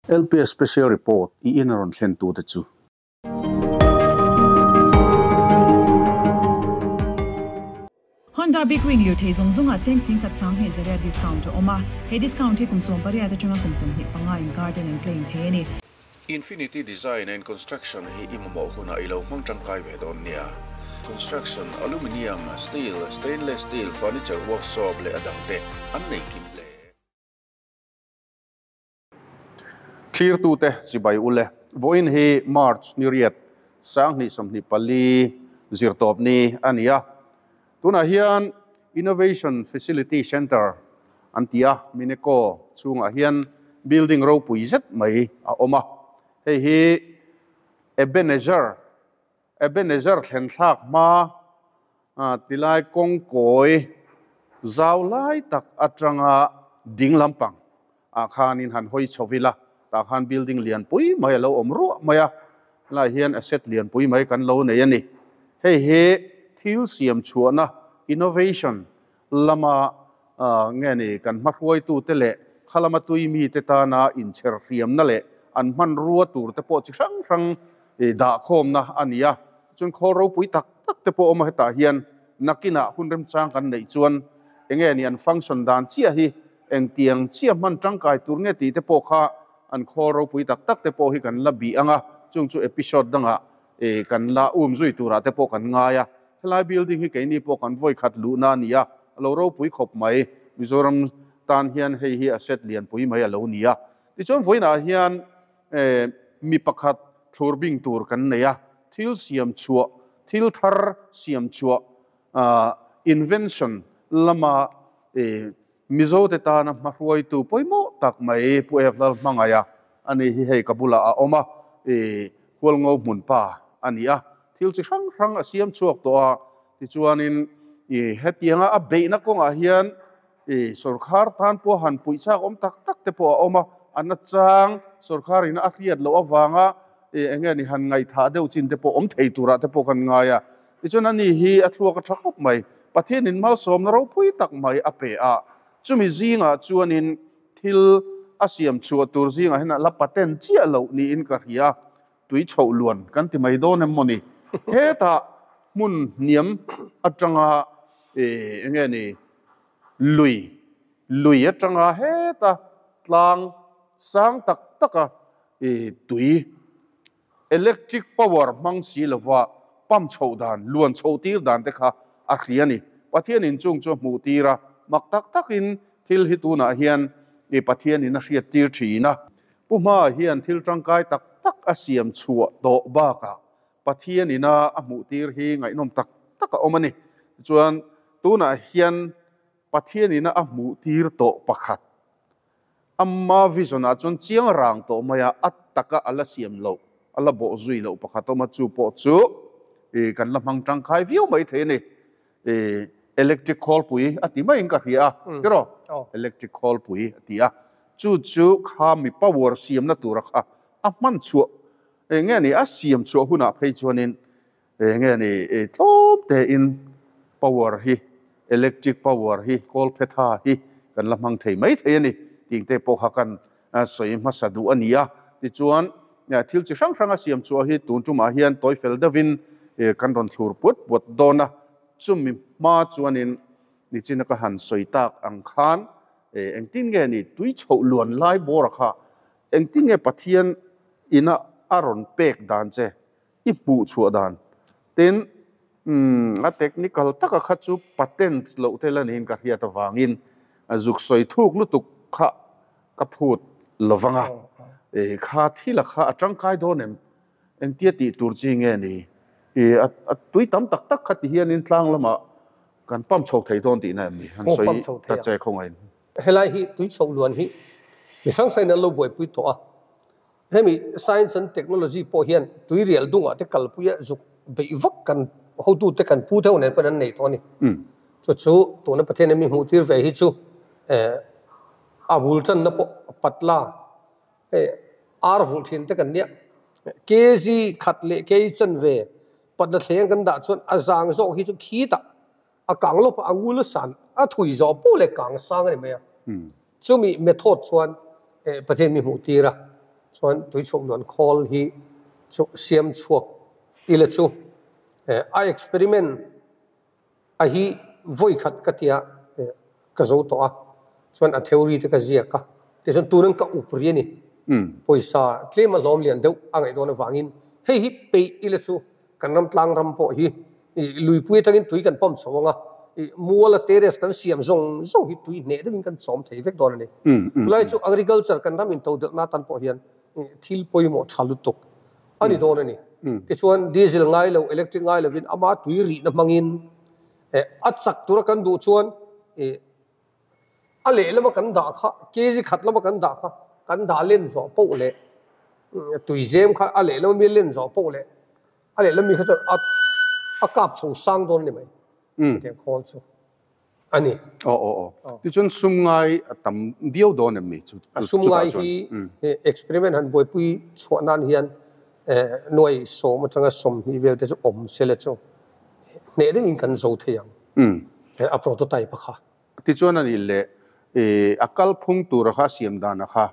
LPS Special Report i in a rawn thlen tute chu. Honda Big Wing lirthei zawng zawngah cheng singkhat sanghnih zariat discount a awm a, he discount hi kum 18 atanga kum 25 inkar ten an claim thei a ni. Infinity Design and Construction hi i mamawh hunah i lo hmang tangkai ve dawn nia. Construction, Aluminium, Steel, Stainless Steel, Furniture Workshop leh a dangte an nei kim hle. Thlirtute chibai ule. Vawiin hi March ni riat 2024 zirtawp ni a ni a. Tunah hian Innovation Facility Centre an ti a, Mineco chhungah hian building ropui zet mai a awm a. Hei hi Ebenezer, Ebenezer thlen thlak hma tilai kawngkawi zau lai tak atanga ding lampang ah khanin han hawi chho ila, tah khan building lianpui mai a lo awm ruah mai a, helaiah hian asset lianpui mai kan lo nei a ni. Hei hi thil siam chhuahna, innovation, lama nge ni kan hmahruaitute leh kha lama tui mite tana inchher hriamna leh an hmanrua tur te pawh chi hrang hrang dahkhawmna a ni a. Chuan khawl ropui tak tak te pawh a awm a, hetah hian nakinah hun remchang kan neih chuan enge ni an function dan chiah hi engtiang chiah hman tangkai tur nge tih te pawh kha an khawl ropui tak tak te pawh hi kan la bih ang a, chung chu episode dangah kan la um zui turah te pawh kan ngai a. Helai building hi keini pawh kan vawi khat luhna a ni a, a lo ropui khawp mai. Mizoram tan hian hei hi asset lianpui mai a lo ni a. Tichuan vawiinah hian mi pakhat thlur bing tur kan nei a, thil siam chhuah, thil thar siam chhuah, invention lama Mizote tana hmahruaitu pawimawh tak mai Pu Ev Lalhmangaia a ni hi hei ka bulah a awm a, Hualngo hmun pa a ni a, thil chi hrang hrang a siam chhuak tawh a, tichuanin hetianga a beihna kawngah hian sorkar tan pawh han puih chak awm tak tak te pawh a awm a, a nachang sorkarin a hriat loh avanga eng nge ni han ngaihthah deuh chin te pawh awm thei turah te pawh kan ngai a. Tichuan ani hi a thluak a tha khawp mai. Pathianin malsawmna ropui tak mai a pe a, chumi zingah chuanin thil a siam chhuah tur zingah hian a la patent chiah loh niin ka hria. Tui chhoh luan kan ti mai dawn em maw ni? Hetah hmun hniam atanga eng nge ni lui, lui atanga heta tlang sang tak taka tui Electric power hmang si lova pump chhoh dan, luan chhoh tir dan te kha a hria a ni. Pathianin chung chu a hmuh tir a, mak tak takin thil hi tunah hian i Pathianin a hriat tir thin a. Pu Hma hian thil tangkai tak tak a siam chhuah tawh bakah Pathianin a a hmuh tir hi ngaihnawm tak tak a awm a ni. Tichuan tunah hian Pathianin a hmuh tir tawh pakhat Amma vision ah chuan chiang rang tawh mai a, a taka a la siam loh, a la bawh zui loh pakhat awm a, chu pawh chu ih kan la hmang tangkai viau mai thei a ni. Ih electric khawlpui a ti maiin ka hria a, tiraw? Electric khawlpui a ti a, chu chu kha mi power siamna tura kha a hman chhuah eng nge ni a siam chhuah hunah phei chuanin Eng nge ni tlawm tein power hi, electric power hi, kawlphetha hi kan la hmang thei mai thei a ni tih te pawh kha kan sawi hmasa duh a ni a. Tichuan, thil chi hrang hrang a siam chhuah hi tun tumah hian tawi fel deuhin kan rawn thlur puat puat dawn a. Chumi hma chuanin nichina ka han sawi tak ang khan engtin nge ni tui chhoh luan lai bawra kha engtin nge Pathian ina a rawn pek dan che I hmuh chhuah dan. Tin, umm, a technical taka kha chu patent loh te la niin ka hriat avangin zuk sawi thuk lutuk kha ka phut lo vang a. E, kha thila kha a tangkai dawn em? Engtia tih tur chi nge ni? E, a tui tam tak tak kha ti hianin tlang lamah kan pump chho thei dawn tihna em ni? Han sawi ta che khawngaih. Helai hi tui chhoh luan hi mi hrang hrangin an lo buaipui tawh a. Hemi Science and Technology pawh hian tuirial dungah te kalpuia zuk beih vak kan hotute kan pu deuh nen pawhin an nei tawh a ni. Chu chu tuna Pathian in mi hmuh tir ve hi chu a bul tanna pawh patla hei ar vulh thin te kan nia. Kg khat leh kg chanve patla thleng kan dah chuan a zang zawk hi chu khitah a kang lawp a, a ngul a san a thui zawh pawh leh kang sang a ni mai a. Chumi method chuan Pathian mi hmuh tir a. Chuan tui chhuk luan khawl hi chu siam chhuak ila chu a experiment a hi vawi khat ka tia ka zo tawh a, chuan a theory te ka ziak a, tichuan tunin ka up ri a ni. Pawisa tlem a hlawm lian deuh a ngaih dawn avangin hei hi peih ila chu kan ram tlang ram pawh hi luipui atangin tui kan pump chho ang a, muala terrace kan siam zawng zawng hi tui hneh deuhin kan chawm thei vek dawn a ni. Chulai chu agriculture kan ram intodelhna atan pawh hian thil pawimawh tha lutuk a ni dawn a ni. Tichuan diesel ngai lo, electric ngai lovin ama tui rihna hmangin a chak tura kan duh chuan a lehlama kan dah kha, kg khat lama kan dah kha kan dah len zawh poh leh tuizem kha a lehlama mi len zawh poh leh A lehlam mi kha chuan a a kap chho sang dawn a ni mai. Chutiang khawl chu a ni. Aw aw aw. Tichuan sum ngai a tam viau dawn em mi chu A sum ngai hi experiment han buaipui chhuah nan hian nuai sawm atanga 20 vel te chu awm se le chu hneh deuhin kan zo thei ang a prototype a kha. Tichuan a nih leh a kalphung tura kha a siam dan a kha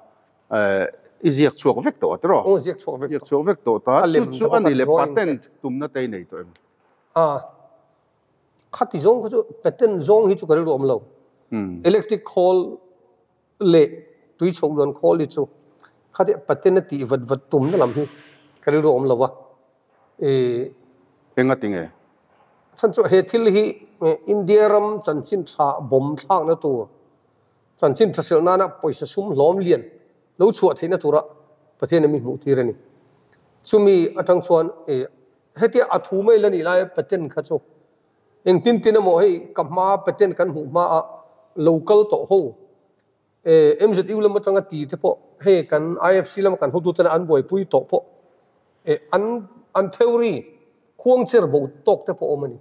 I ziak chhuak vek tawh a tiraw? Aw, ziak chhuak vek tawh. Ziak chhuak vek tawh ta. Chu chu a ni le patent tumna te i nei tawh em? A, khati zawng kha chu patent zawng hi chu ka rilru awm lo. Electric khawl leh tui chho luan khawl hi chu khati patent a tih vat vat tumna lam hi ka rilru awm lo va. Enga tinge? Chhan chu he thil hi India ram chanchin tha bawm thlakna tur Chanchin tha hrilh nana pawisa sum hlawm lian lo chhuah theihna tura Pathian in mi hmuh tir a ni. Chumi atang chuan hetia a thu mai la nih laia patent kha chu engtin tin emaw hei ka hma patent kan hmuh hma a lo kal tawh ho MZU lam atanga ti te pawh hei kan IFC lama kan hotute an buaipui tawh pawh an an theory khuang cher bo tawk te pawh awm a ni.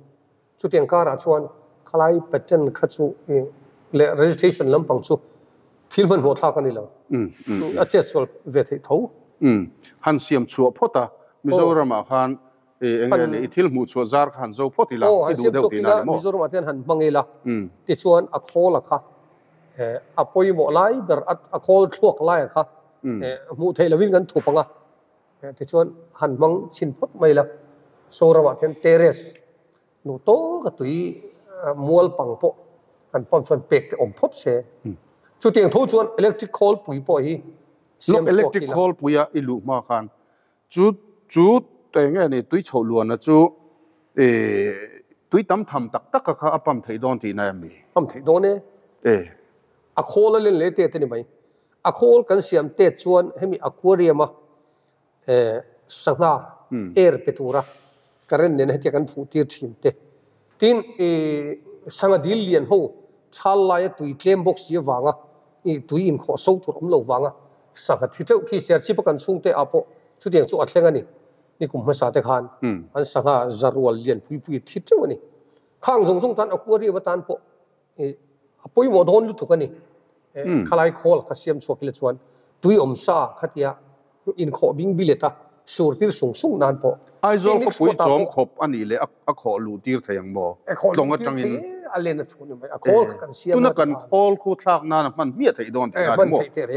Chutiang karah chuan khalai patent kha chu leh registration lampang chu thil hmanhmawh thlak a ni lo. A chet sual ve theih tho. Han siam chhuah phawt a, Mizoramah khan eng nge ni i thil hmuh chhuah zar kha han zo phawt ila, i duh deuh tihna a ni maw? Mizoramah te hian han hmang ila, tichuan a khawla kha a pawimawh lai ber, a khawl thluak laia kha hmuh theih lovin kan thup ang a. Tichuan han hmang chhin phawt mai la, Zoramah khian terrace nu tawka tui mual pang pawh han pump chuan pek te awm phawt se. Chutiang tho chuan electric khawlpui pawh hi siam chhuak ila. Electric khawlpuia i luh hma khan chu chu eng nge ni tui chhoh luana chu tui tam tham tak tak a kha a pump theih dawn tihna em ni? Pump theih dawn e. A khawl a len leh tet a ni mai. A khawl kan siam tet chuan hemi aquarium a sangha air pe tura current nena hetia kan phuh tir thin te. Tin sangha dil lian ho chhal laia tui tlem bawk si avanga tui inkhawh so tur awm lo vanga sangha thi teuh khi Serchhip a kan chhungte ah pawh chutiang chu a thleng a ni. Ni kum hmasa te khan an sangha zarual lian pui pui thi teuh a ni. Khang zawng zawng tan aquarium atan pawh A pawimawh dawn lutuk a ni. Khalai khawl kha siam chhuak ila chuan tui awm sa khatia inkhawh bing bilet a sur tir sung sung nan pawh. Aizawl khawpui chawm khawp a nih leh a khawh luh tir thei ang maw? Tlawng atangin. A len a chhun mai. A khawl kha kan siam a. Tuna kan khawl khu thlak nan a hman hmiah theih dawn tih a ni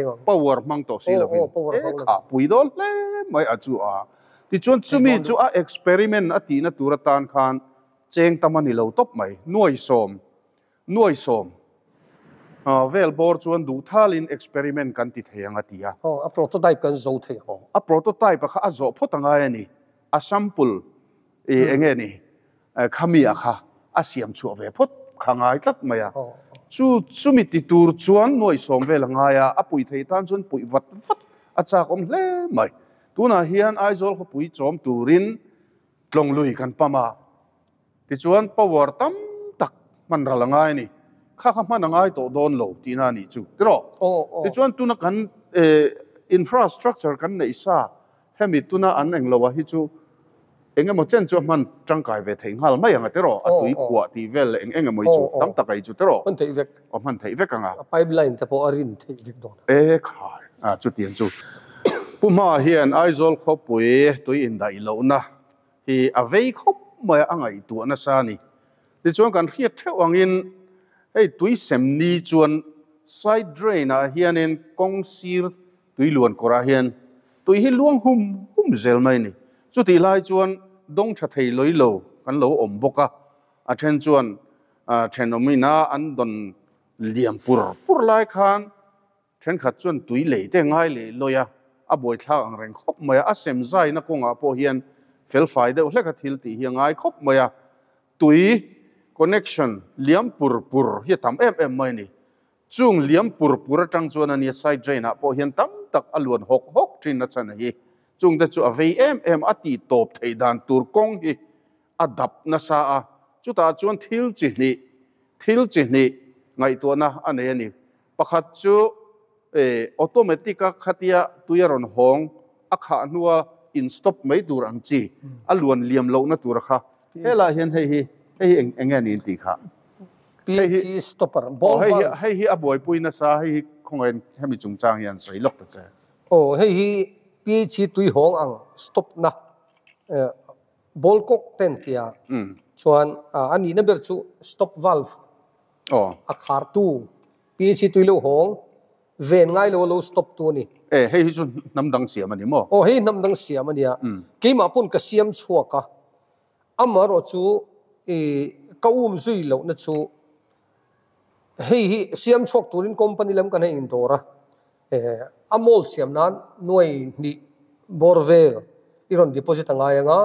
maw? Power hmang tawh si lovin. E kha pui dawn hle mai a chu a. Tichuan chumi chu a experiment a tihna tur atan khan Cheng tam a ni lo tawp mai. Nuai sawm, nuai sawm vel bawr chuan duh thalin experiment kan ti thei ang a ti a. Aw, a prototype kan zo thei ang. Aw, a prototype a kha a zawh phawt a ngai a ni. A sample i eng nge ni khami a kha a siam chhuah ve phawt kha ngai tlat mai a. Chu chumi ti tur chuan nuai sawm vel a ngai a, a puih thei tan chuan puih vat vat a chak awm hle mai. Tunah hian Aizawl khawpui chawm turin Tlawng lui kan pam a, tichuan power tam tak hman ral a ngai a ni. Kha kha hman a ngai tawh dawn lo tihna a nih chu, tiraw? Tichuan tuna kan infrastructure kan neih sa hemi tuna an eng lo a hi chu eng emaw chen chu a hman tangkai ve thei nghal mai ang a, tiraw? A tui khuah tih vel leh eng eng emaw hi chu tam tak a hi chu, tiraw? Hman theih vek. Aw, hman theih vek ang a. A pipeline te pawh a rin theih vek dawn a. E khai, a chutiang chu. Pu Hma hian Aizawl khawpui tui indaih lohna hi a vei khawp mai a, a ngaihtuah nasa a ni. Tichuan kan hriat theuh angin hei tui sem ni chuan side drain ah hianin kawng sir tui luan kawrah hian Tui hi luang hum hum zel mai a ni. Chutih lai chuan dawng tha thei lawih lo kan lo awm bawk a, a then chuan thenawmina an dawn liam pur pur lai khan thenkhat chuan tui lei te ngai leh lawih a, a buaithlak ang reng khawp mai a, a sem zaina kawngah pawh hian felfai deuh hlek a thil tih hi a ngai khawp mai a, tui connection liam pur pur hi a tam em em mai a ni. Chung liam pur pur atang chuan a nia side drain ah pawh hian tam tak a luan hawk hawk thin a chhan a hi. Chung te chu a vei em em a tih tawp theih dan tur kawng hi a dap nasa a, chutah chuan thil chi hnih, thil chi hnih ngaihtuahna a nei a ni. Pakhat chu automatic a khatia tui a rawn hawng a khah hnua in stop mai tur ang chi a luan liam lohna tur a kha. Helaiah hian hei hi hei hi eng nge niin tih kha. PHE stopper ball valve. Hei hi a buaipui nasa hei hi khawngaih hemi chungchang hian sawi lawk ta che. Aw hei hi PHE tui hawng ang stop na ball cock ten tia chuan a nihna ber chu stop valve a khartu PHE tui lo hawng ven ngai lo a lo stop tu a ni. E hei hi chu hnam dang siam a ni maw? Aw hei hnam dang siam a nia. Keimah pawn ka siam chhuak a. Amaherawh chu i ka um zui lohna chu hei hi siam chhuak turin company lam kan hei indawr a, a mall siam nan nuai hnih bawr vel i rawn deposit a ngai ang a,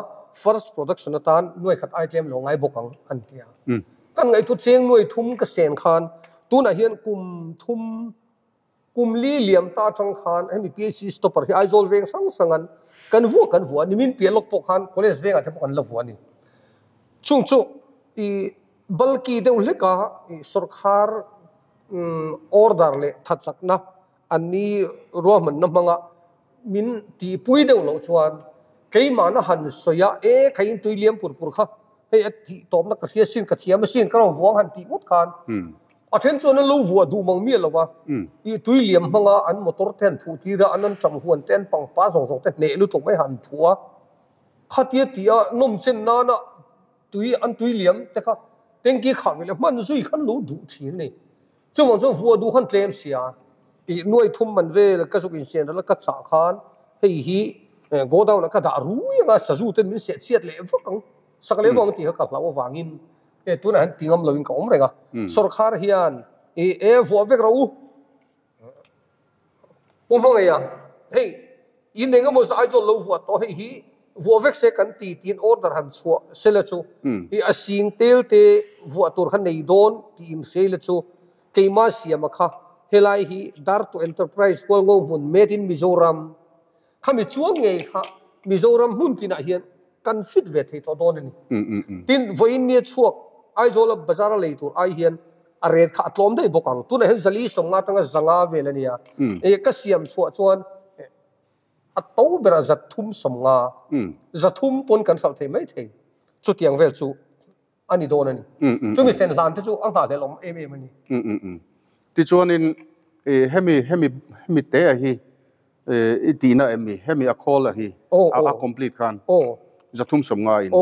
first production atan nuai khat ai tlem lo ngai bawk ang an ti a. Kan ngaihtu cheng nuai thum ka sen khan tunah hian kum thum Kum li liam ta atang khan hemi PHC stopper hi Aizawl veng hrang hrangan kan vuah kan vuah a, nimin piah lawk pawh khan college vengah te pawh kan la vuah a ni. Chung chu i bulky deuh hlek a, i sawrkhar order leh thachakna an ni ruahmanna hmanga min tihpui deuh loh chuan keimahna han sawi a, e kha in tui liam pur pur kha hei a tih tawpna ka hria sin, ka thiam asin, ka rawn vuang han tih ngawt khan A then chuan an lo vuah duh mang miah lo va, ih tui liam hmanga an motor te an phuh tir a, an an ṭang huan te an pangpar zawng zawng te hneh lutuk mai han phuh a. Khatia tia nawm chen nana tui an tui liam te kha tanky khah ve leh hman zui khan lo duh ṭhin a ni. Chuvang chuan vuah duh khan tlem sia, ih nuai thum man vel ka zuk insian ral a ka chah khan hei hi godown ah ka dah rui anga sazu ten min seh chhiat leh vak ang, sak leh vang tih kha ka hlauh avangin E tunah hian ti ngam loin ka awm reng a, sawrkhar hian i e vuah vek rawh u, u hmangaih a, hei in eng emaw Aizawl lo vuah tawh hei hi vuah vek se kan ti tiin order han chhuah sela chu i a sing tel te vuah tur kha nei dawn tiin hria ila chu keimah siama kha helai hi Dartu Enterprise Hualngo hmun made in Mizoram Khami chuang ngei kha Mizoram hmun tinah hian kan fit ve thei tawh dawn a ni. Tin, vawiin nia chhuak Aizawla bazar a lei tur ai hian a rate kha a tlawm daih bawk ang. Tunah hian zali sawmnga atanga zanga vel a nia. Ka siam chhuah chuan a to berah zathum sawmnga, zathum pawn kan hralh thei mai thei. Chutiang vel chu a ni dawn a ni. Chumi thlen hlan te chu a nghahhlelh awm em em a ni. Tichuanin hemi hemi hemi te a hi i tihna em mi? Hemi a khawl a hi a complete khan zathum sawm nga in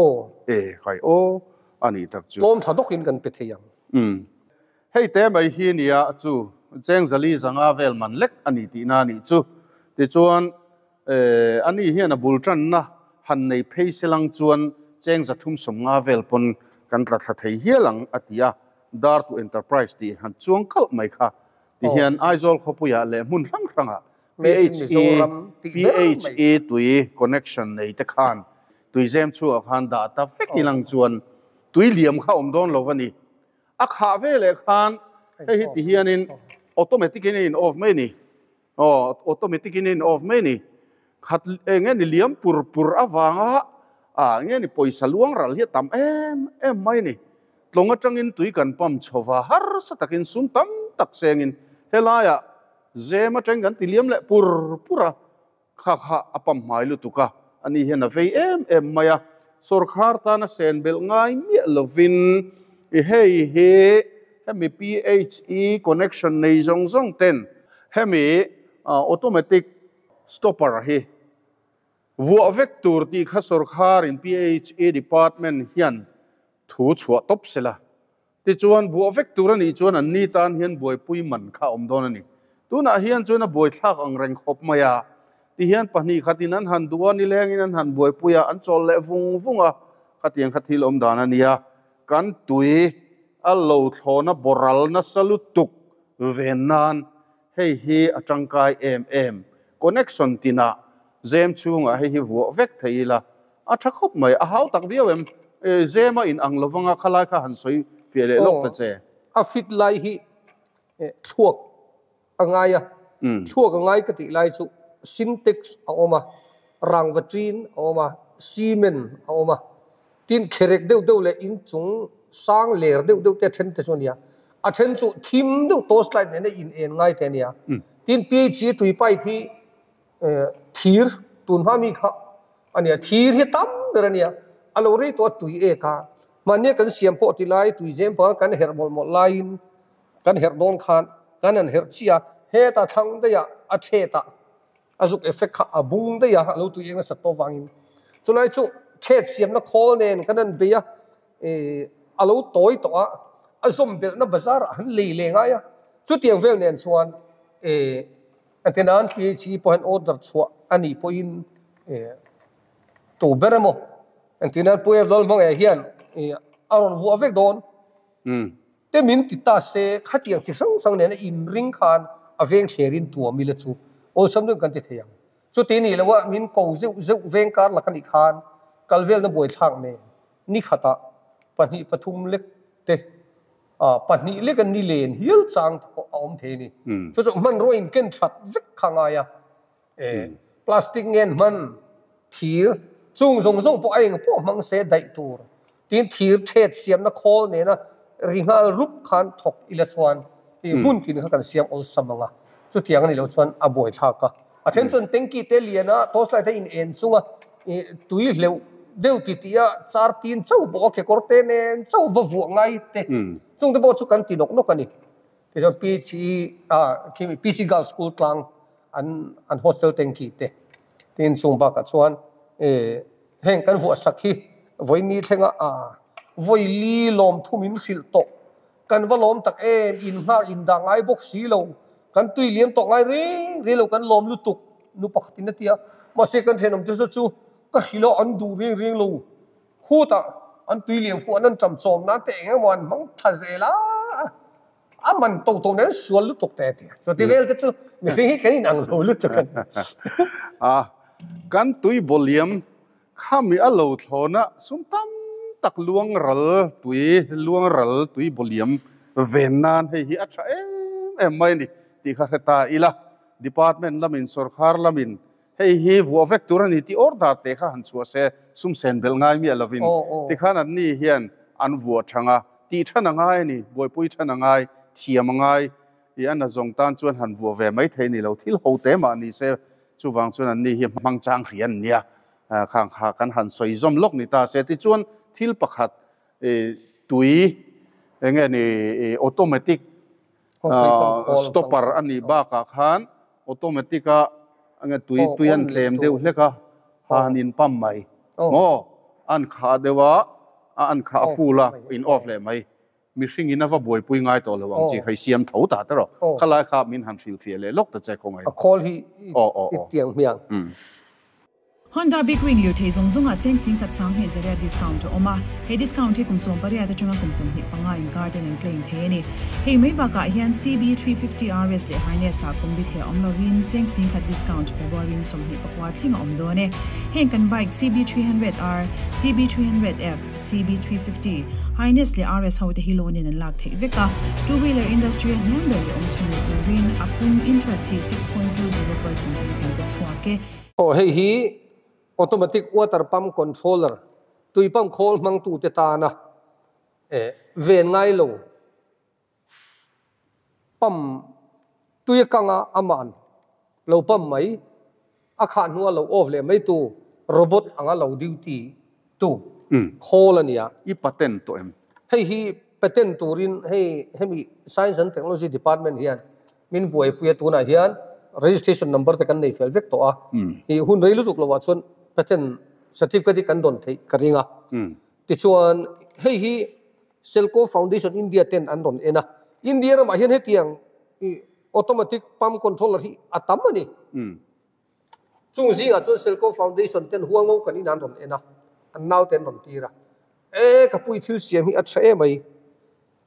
e khai aw a nih tak chu. Tlawm tha dawkin kan pe thei ang. Hei te mai hi nia chu cheng zali zanga vel man lek a ni tihna a nih chu. Tichuan Ani hian a bul tanna han nei phei se lang chuan cheng zathum sawmnga vel pawn kan tla thla thei hial ang a ti a, Dartu Enterprise tih han chuang kalh mai kha ti hian Aizawl khawpuiah leh hmun hrang hrangah PHE tui connection nei te khan tuizem chhuah khan dah ta vek ilang chuan tui liam kha awm dawn lo a ni. A khah veleh khan hei hi ti hianin automatic in a in off mai a ni. Aw, automatic in a in off mai a ni. Khat eng nge ni liam pur pur avanga ah nge ni pawisa luang ral hi a tam em em mai a ni. Tlawng atangin tui kan pump chho va, harsa takin sum tam tak sengin helaiah zem atangin kan ti liam leh pur pur a, kha kha a pump hmai lutuk a, ani hian a vei em em mai a. Sawrkhar tana sen belh ngai miah lovin i hei hi hemi PHE connection nei zawng zawng ten hemi automatic stopper hi vuah vek tur tih kha sawrkharin PHE department hian thu chhuah tawp sela. Tichuan vuah vek tur a nih chuan an ni tan hian buaipui man kha a awm dawn a ni. Tunah hian chuan a buaithlak ang reng khawp mai a. Ti hian pahnih khatin an han duh a, nilengin an han buaipui a, an chawl leh vung vung a, khatiang kha thil awm dan a nia. Kan tui a lo thlawna boral nasa lutuk ven nan hei hi a tangkai em em. Connection tinah zem chhungah hei hi vuah vek thei ila a tha khawp mai. A hau tak viau em? Zem a inang lovanga khalai kha han sawi fiah leh lawk ta che. A fit lai hi thluak a ngai a, thluak a ngai ka tih lai chu Sintex a awm a, rangva ṭin a awm a, cement a awm a, tin kherek deuh deuh leh inchung sang ler deuh deuh te a then te chu a nia, a then chu thim deuh torch light nena in en ngai te a nia, tin PHE tui pipe hi thir tun hma mi kha a nia, thir hi tam ber a nia, a lo rei tawh a tui ek a, mahnia kan siam pawh ti lai tui zem panga kan herh mawlh mawlh laiin Kan herh dawn khan kan han herh chiah a, heta thlang daih ah a thet ah a zuk effect kha a bung daih a, a lo tui eng nasat tawh vangin. Chulai chu thet siamna khawl nen kan han bei a, a lo tawi tawh a, a zawm belhna bazar ah han lei leh ngai a. Chutiang vel nen chuan Antenan PHE pawh hian order chhuah a nih pawhin tu ber emaw Antenan Pu Evdal hmangaiah hian a rawn vuah vek dawn. Te min ti ta se, khatiang chi hrang hrang nena inring khan a veng thlerin tuam ila chu awlsam deuhin kan ti thei ang. Chuti nih loh a min ko zeuh zeuh veng kar lak a nih khan kal velna buaithlak nen ni khatah pahnih pathum lek te pahnih lek a ni len hial chang te pawh a awm thei a ni. Chu chu hmanrua in ken that vek kha ngai a, plastic ngen hman thir chung zawng zawng pawh a eng pawh hmang se daih tur Tin, thir thet siamna khawl nena ri nghal rup khan thawk ila chuan i hmun tin kha kan siam awlsam ang a, chutiang a nih loh chuan a buaithlak a. A then chuan tanky te lian a, torch light a in en chunga i tui hleuh deuh ti tih a char tin chauh bawk a, kekawr te nen chauh va vuah ngai te chung te pawh chu kan ti nawk nawk a ni. Tichuan PHE khi PC Girls School tlang an an hostel tanky te tin chung bakah chuan heng kan vuah sak hi vawiini thlenga vawi li lawm thum in hrilh tawh kan va lawm tak em in nghak in dah ngai bawk si lo kan tui liam tawh ngai reng reng lo kan lawm lutuk nu pakhat in a ti a mahse kan thenawm te chu ka hrilh a an duh reng reng lo Khutah an tui liam khu an an ṭam chawm nan te eng emaw an hmang ṭha zel a, a man to to nen sual lutuk te a ti a. Chuti vel te chu mihring hi kan inang lo lutuk a ni. A, kan tui bawliam khami a lo thlawna sum tam tak luang ral tui luang ral tui bawliam ven nan hei hi a ṭha em em mai a ni tih kha hre ta ila. Department lamin sawrkhar lamin Hei hi vuah vek tur a ni tih order te kha han chhuah se, sum sen belh ngai miah lovin tikhan anni hian an vuah thang a, tih than a ngai a ni, buaipui than a ngai, thiam a ngai i a nazawng tan chuan han vuah ve mai thei ni lo, thil ho te mah ni se, chuvang chuan anni hi hmang chang hria an nia, khang kha kan han sawi zawm lawk ni ta se, tichuan thil pakhat tui enge ni automatic Stopper a nih bakah khan automatic a tui tui an tlem deuh hlek a, han in pump mai maw? An khah deuh a, a an khah a full a, in off leh mai. Mihring in a va buaipui ngai tawh lo ang chi kha i siam tho ta te rawh. Khalai kha min han hrilhfiah leh lawk ta che khawngaih. A khawl hi i tiang hmiang. Honda Big Wing lirthei zawng zawngah cheng singkhat sanghnih zariat discount a awm a, he discount hi kum 18 atanga kum 25 inkar ten an claim thei a ni. Hei mai bakah hian CB350 RS leh Highness ah kum bithliah awm loin cheng singkhat discount February ni 24 thleng a awm dawn e. Heng kan bike CB300R, CB300F, CB350, Highness leh RS ho te hi loan in an lak theih vek a, two wheeler industry a hniam ber leh awm chhun leh turin a pum interest hi 6.20% in kan pe chhuak e. Aw hei hi automatic water pump controller tui pump khawl hmangtute tana ven ngai lo pump tui a kang a aman lo pump mai a khah hnua lo off leh mai tu robot anga lo duty tu khawl a nia. I patent tawh em? Hei hi patent turin hei hemi Science and Technology Department hian min buaipui a tunah hian registration number te kan nei fel vek tawh a, i hun rei lutuk lovah chuan patent certificate hi kan dawn theih ka ring a. Tichuan hei hi Selco Foundation India ten an rawn en a, India ramah hian hetiang i automatic pump controller hi a tam a ni. Chung zingah chuan Selco Foundation ten Hualngo kan in an rawn en a, an naute an rawn tir a. E ka pui thil siam hi a tha em mai,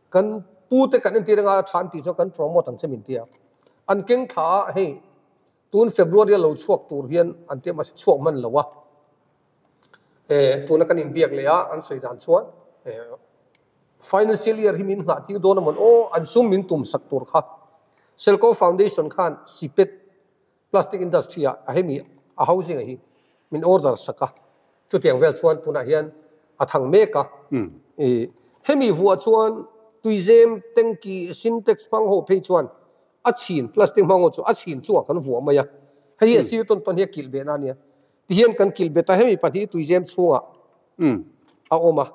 kan pute kan entir anga a tha an tih chuan kan promote ang che min ti a. An keng thla a, hei tun February a lo chhuak tur hian an tia mahse chhuak hman lo a. E tuna kan inbiak leh a, an sawi dan chuan e financial year hi min nghah tir dawn a mawn aw, an sum min tum sak tur kha. Selco Foundation khan sipet Plastic industry ah a hemi a housing a hi min order sak a, chutiang vel chuan tunah hian a thang mek a. I hemi vuah chuan tuizem tanki sintex hmang ho phei chuan a chhin plastic hmang ho chu a chhin chungah kan vuah mai a, hei hi a sir tawn tawn hi a kilh behna a nia. Tihian kan kilh bet a, hemi pahnih tuizem chhungah a awm a.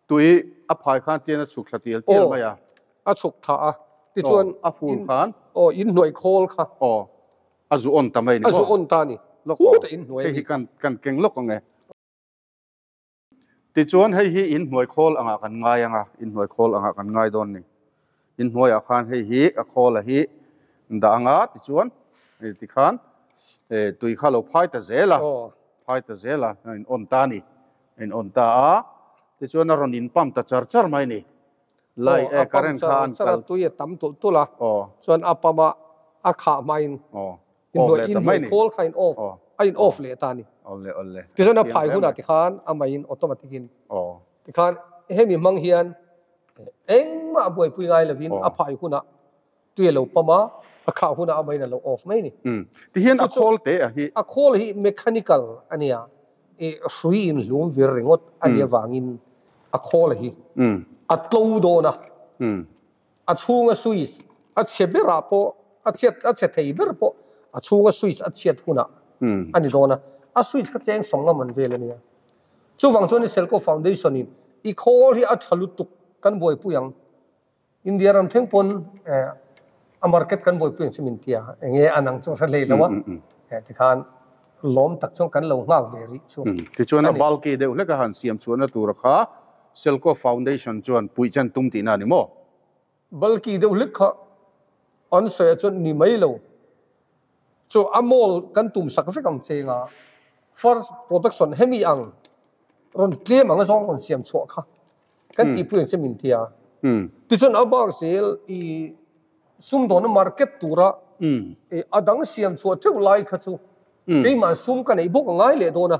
Tui a phai khan tian a chhuk thla tial tial mai a. Aw, a chhuk tha a. Tichuan a fur khan. Aw, in hnuai khawl kha. Aw, a zu on ta mai ni maw? A zu on ta a ni. Lawk aw. Khuta in hnuai a ni. Hei hi kan kan keng lawk ang e. Tichuan hei hi in hnuai khawl angah kan ngai ang a, in hnuai khawl angah kan ngai dawn ni. In hnuaiah khan hei hi a khawl a hi dah ang a, tichuan tikhan tui kha lo phai ta zel a, phai ta zel a, in on ta a ni. In on ta a, tichuan a rawn in pump ta char char mai ni. Light eh current kha an kal. Tui a tam tulh tulh a, chuan a pump a a khah hmain in hnuai khawl kha in off a in off leh ta a ni. Tichuan a phai hunah tikhan a mei in automatic in tikhan hemi hmang hian engmah buaipui ngai lovin a phai hunah Tui a lo pump a, a khah hunah a main a lo off mai a ni. Tihian a khawl te a hi. A khawl hi mechanical a nia, i hrui in hlum vir ringawt a nih avangin a khawl hi a tlo dawn a. A chhunga switch a chhe berah pawh a chhiat a chhe thei ber pawh a chhunga switch a chhiat hunah a ni dawn a. A switch kha cheng sawng ngam an vel a nia. Chuvang chuan i Selco Foundation in i khawl hi a tha lutuk kan buaipui ang. India ram thleng pawn a market kan buaipui ang chu min ti a, enge an ang chu hre hlei lo a, tikhan lawm tak chuan kan lo nghak ve rih chu. Tichuan a bulky deuh hlek a han siam chhuahna tura kha Selco Foundation chuan puih chen tum tihna a ni maw? Bulky deuh hlek kha an sawi ah chuan ni mai lo. Chu a mall kan tum sak vek ang che nga first production hemi ang rawn tlem ang zawng rawn siam chhuah kha. Kan tihpui ang che min ti a. Tichuan a bak zel i sumdawnna market tura a dang siam chhuah teuh lai kha chu keimah sum ka neih bawk a ngai leh dawn a.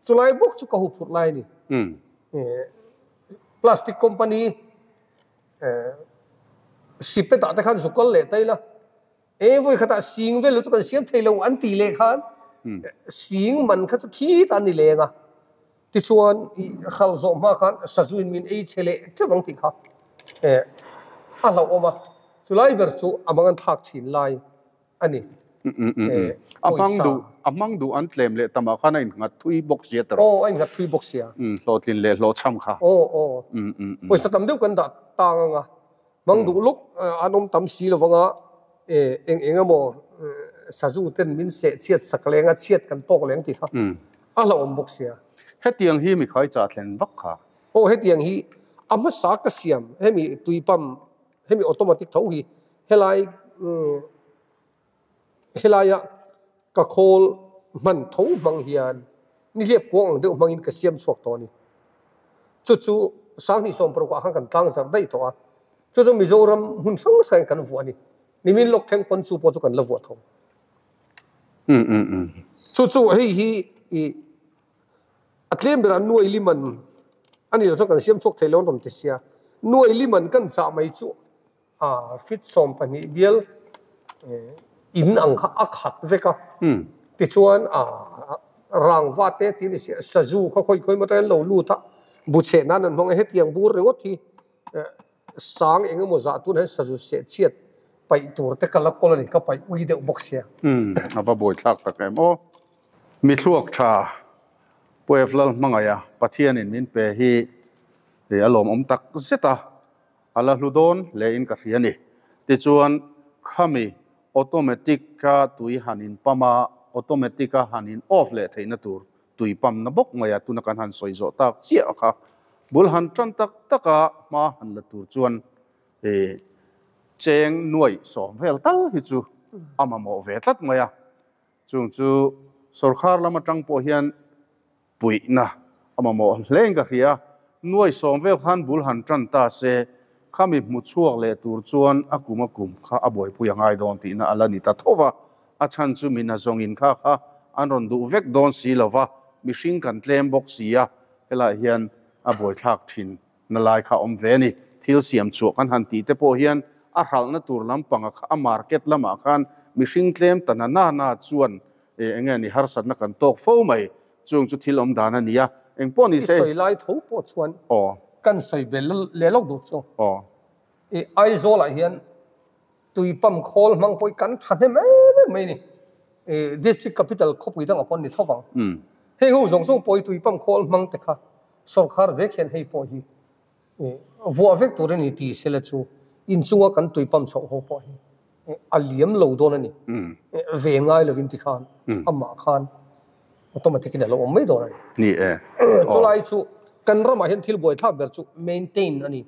Chulai bawk chu ka hu phurh lai a ni. Plastic company sipet ah te khan zu kal leh ta ila e vawi khatah sing vel chu kan siam thei lo an tih leh khan sing man kha chu khitah an ni leng a. Tichuan, i hralh zawh hma khan sazuin min ei chhe leh teuh ang tih kha a hlauhawm a, chulai ber chu a mang an thlak thin lai a ni. A hmang duh, a hmang duh an tlem leh tamah khan a innghat thui bawk sia tawrh. Aw, a innghat thui bawk sia. Hlawhtlin leh hlawhchham kha. Aw, aw. Pawisa tam deuh kan dah tang ang a, hmang duh lawk an awm tam si lovang a, eng eng emaw sazu ten min seh chhiat sak leng a, chhiat kan tawk leng tih kha a hlauhawm bawk sia. Hetiang hi mikhai chah thlen vak kha. Aw hetiang hi a hmasa ka siam hemi tui pump hemi automatic tho hi helai helaia ka khawl hman tho hmang hian nihliap kuang ang deuh hmangin ka siam chhuak tawh a ni. Chu chu Sanghnih sawmparukah khan kan tlang zarh daih tawh a, chu chu Mizoram hmun hrang hrangin kan vuah a ni. Nimin lawk thleng pawn chu pawh chu kan la vuah tho. Chu chu hei hi i a tlem berah nuai liman a ni lo chuan kan siam chhuak thei lo an rawn ti sia. Nuai liman kan chah mai chu A fit 12 bial in ang kha a khat vek a, tichuan a rangva te tih a ni si a, sazu kha khawi khawi maw lo lut a, bu cheh nan an hmang a, hetiang bur ringawt hi sang eng emaw zah tun hian sazu seh chhiat paih tur te ka la kawl a ni, ka paih ui deuh bawk sia. A va buaithlak tak em aw. Mi thluak tha Puef Lalhmangaih a Pathianin min pe hi a lawmawm tak zet a. A la hlu dawn hle in ka hria ni. Tichuan, khami automatic a tui han in pump a, automatic a han in off leh theihna tur tui pump na bawk mai a, tuna kan han sawi zawh tak chiah kha bul han tan tak tak a hma han la tur chuan cheng nuaih sawm vel tal hi chu a mamawh ve tlat mai a. Chung chu Sorkar lam atang pawh hian puihna a mamawh hle in ka hria. Nuai sawm vel khan bul han tan ta se, khami hmu chhuak leh tur chuan a kum a kum kha a buaipui a ngai dawn tihna a la ni ta tho va. A chhan chu min a zawngin kha kha an rawn duh vek dawn si lo va, mihring kan tlem bawk si a, helaiah hian a buaithlak thin na lai kha awm ve a ni. Thil siam chhuah kan han tih te pawh hian a hralhna tur lampanga kha a market lamah khan mihring tlem ta na na na chuan eng nge ni harsatna kan tawk fo mai. Chung chu thil awm dan a ni a, eng pawh ni se. I sawi lai tho pawh chuan kan sawi ve leh lawk duh chu. I Aizawlah hian tui pump khawl hmang pawh hi kan tha hnem em em mai a ni. District capital khawpui dangah pawh an ni tho vang. Hei ho zawng zawng pawh hi tui pump khawl hmang te kha sorkar vek hian hei pawh hi vuah vek tur a ni ti sela chu inchunga kan tui pump chhoh ho pawh hi a liam lo dawn a ni. Ve ngai lovin ti khan amah khan automatic in a lo awm mai dawn a ni. Ni e. Chulai chu kan ramah hian thil buaithlak ber chu maintain a ni.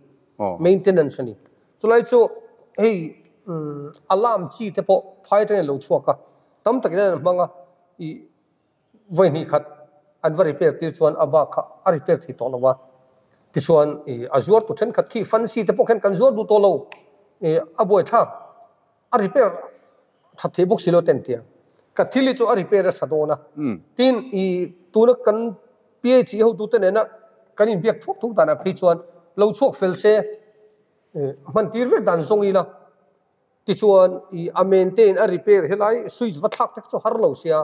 Maintenance a ni. Chulai chu hei alarm chi te pawh phai atangin a lo chhuak a, tam takin an hmang a, ih vawi hnih khat an va repair tir chuan a bak kha a repair thei tawh lo a, tichuan ih a zuar tu thenkhat khi fancy te pawh khan kan zuar duh tawh lo, ih a buaithlak a repair that thei bawk si lo ten tia ka thil hi chu a repair a tha dawn a, tin ih tuna kan PHE hotute nena kan inbiak thuk thuk danah phei chuan lo chhuak fel se hman tir vek dan zawng ila tichuan ih a maintain a repair helai switch va thlak te kha chu har lo sia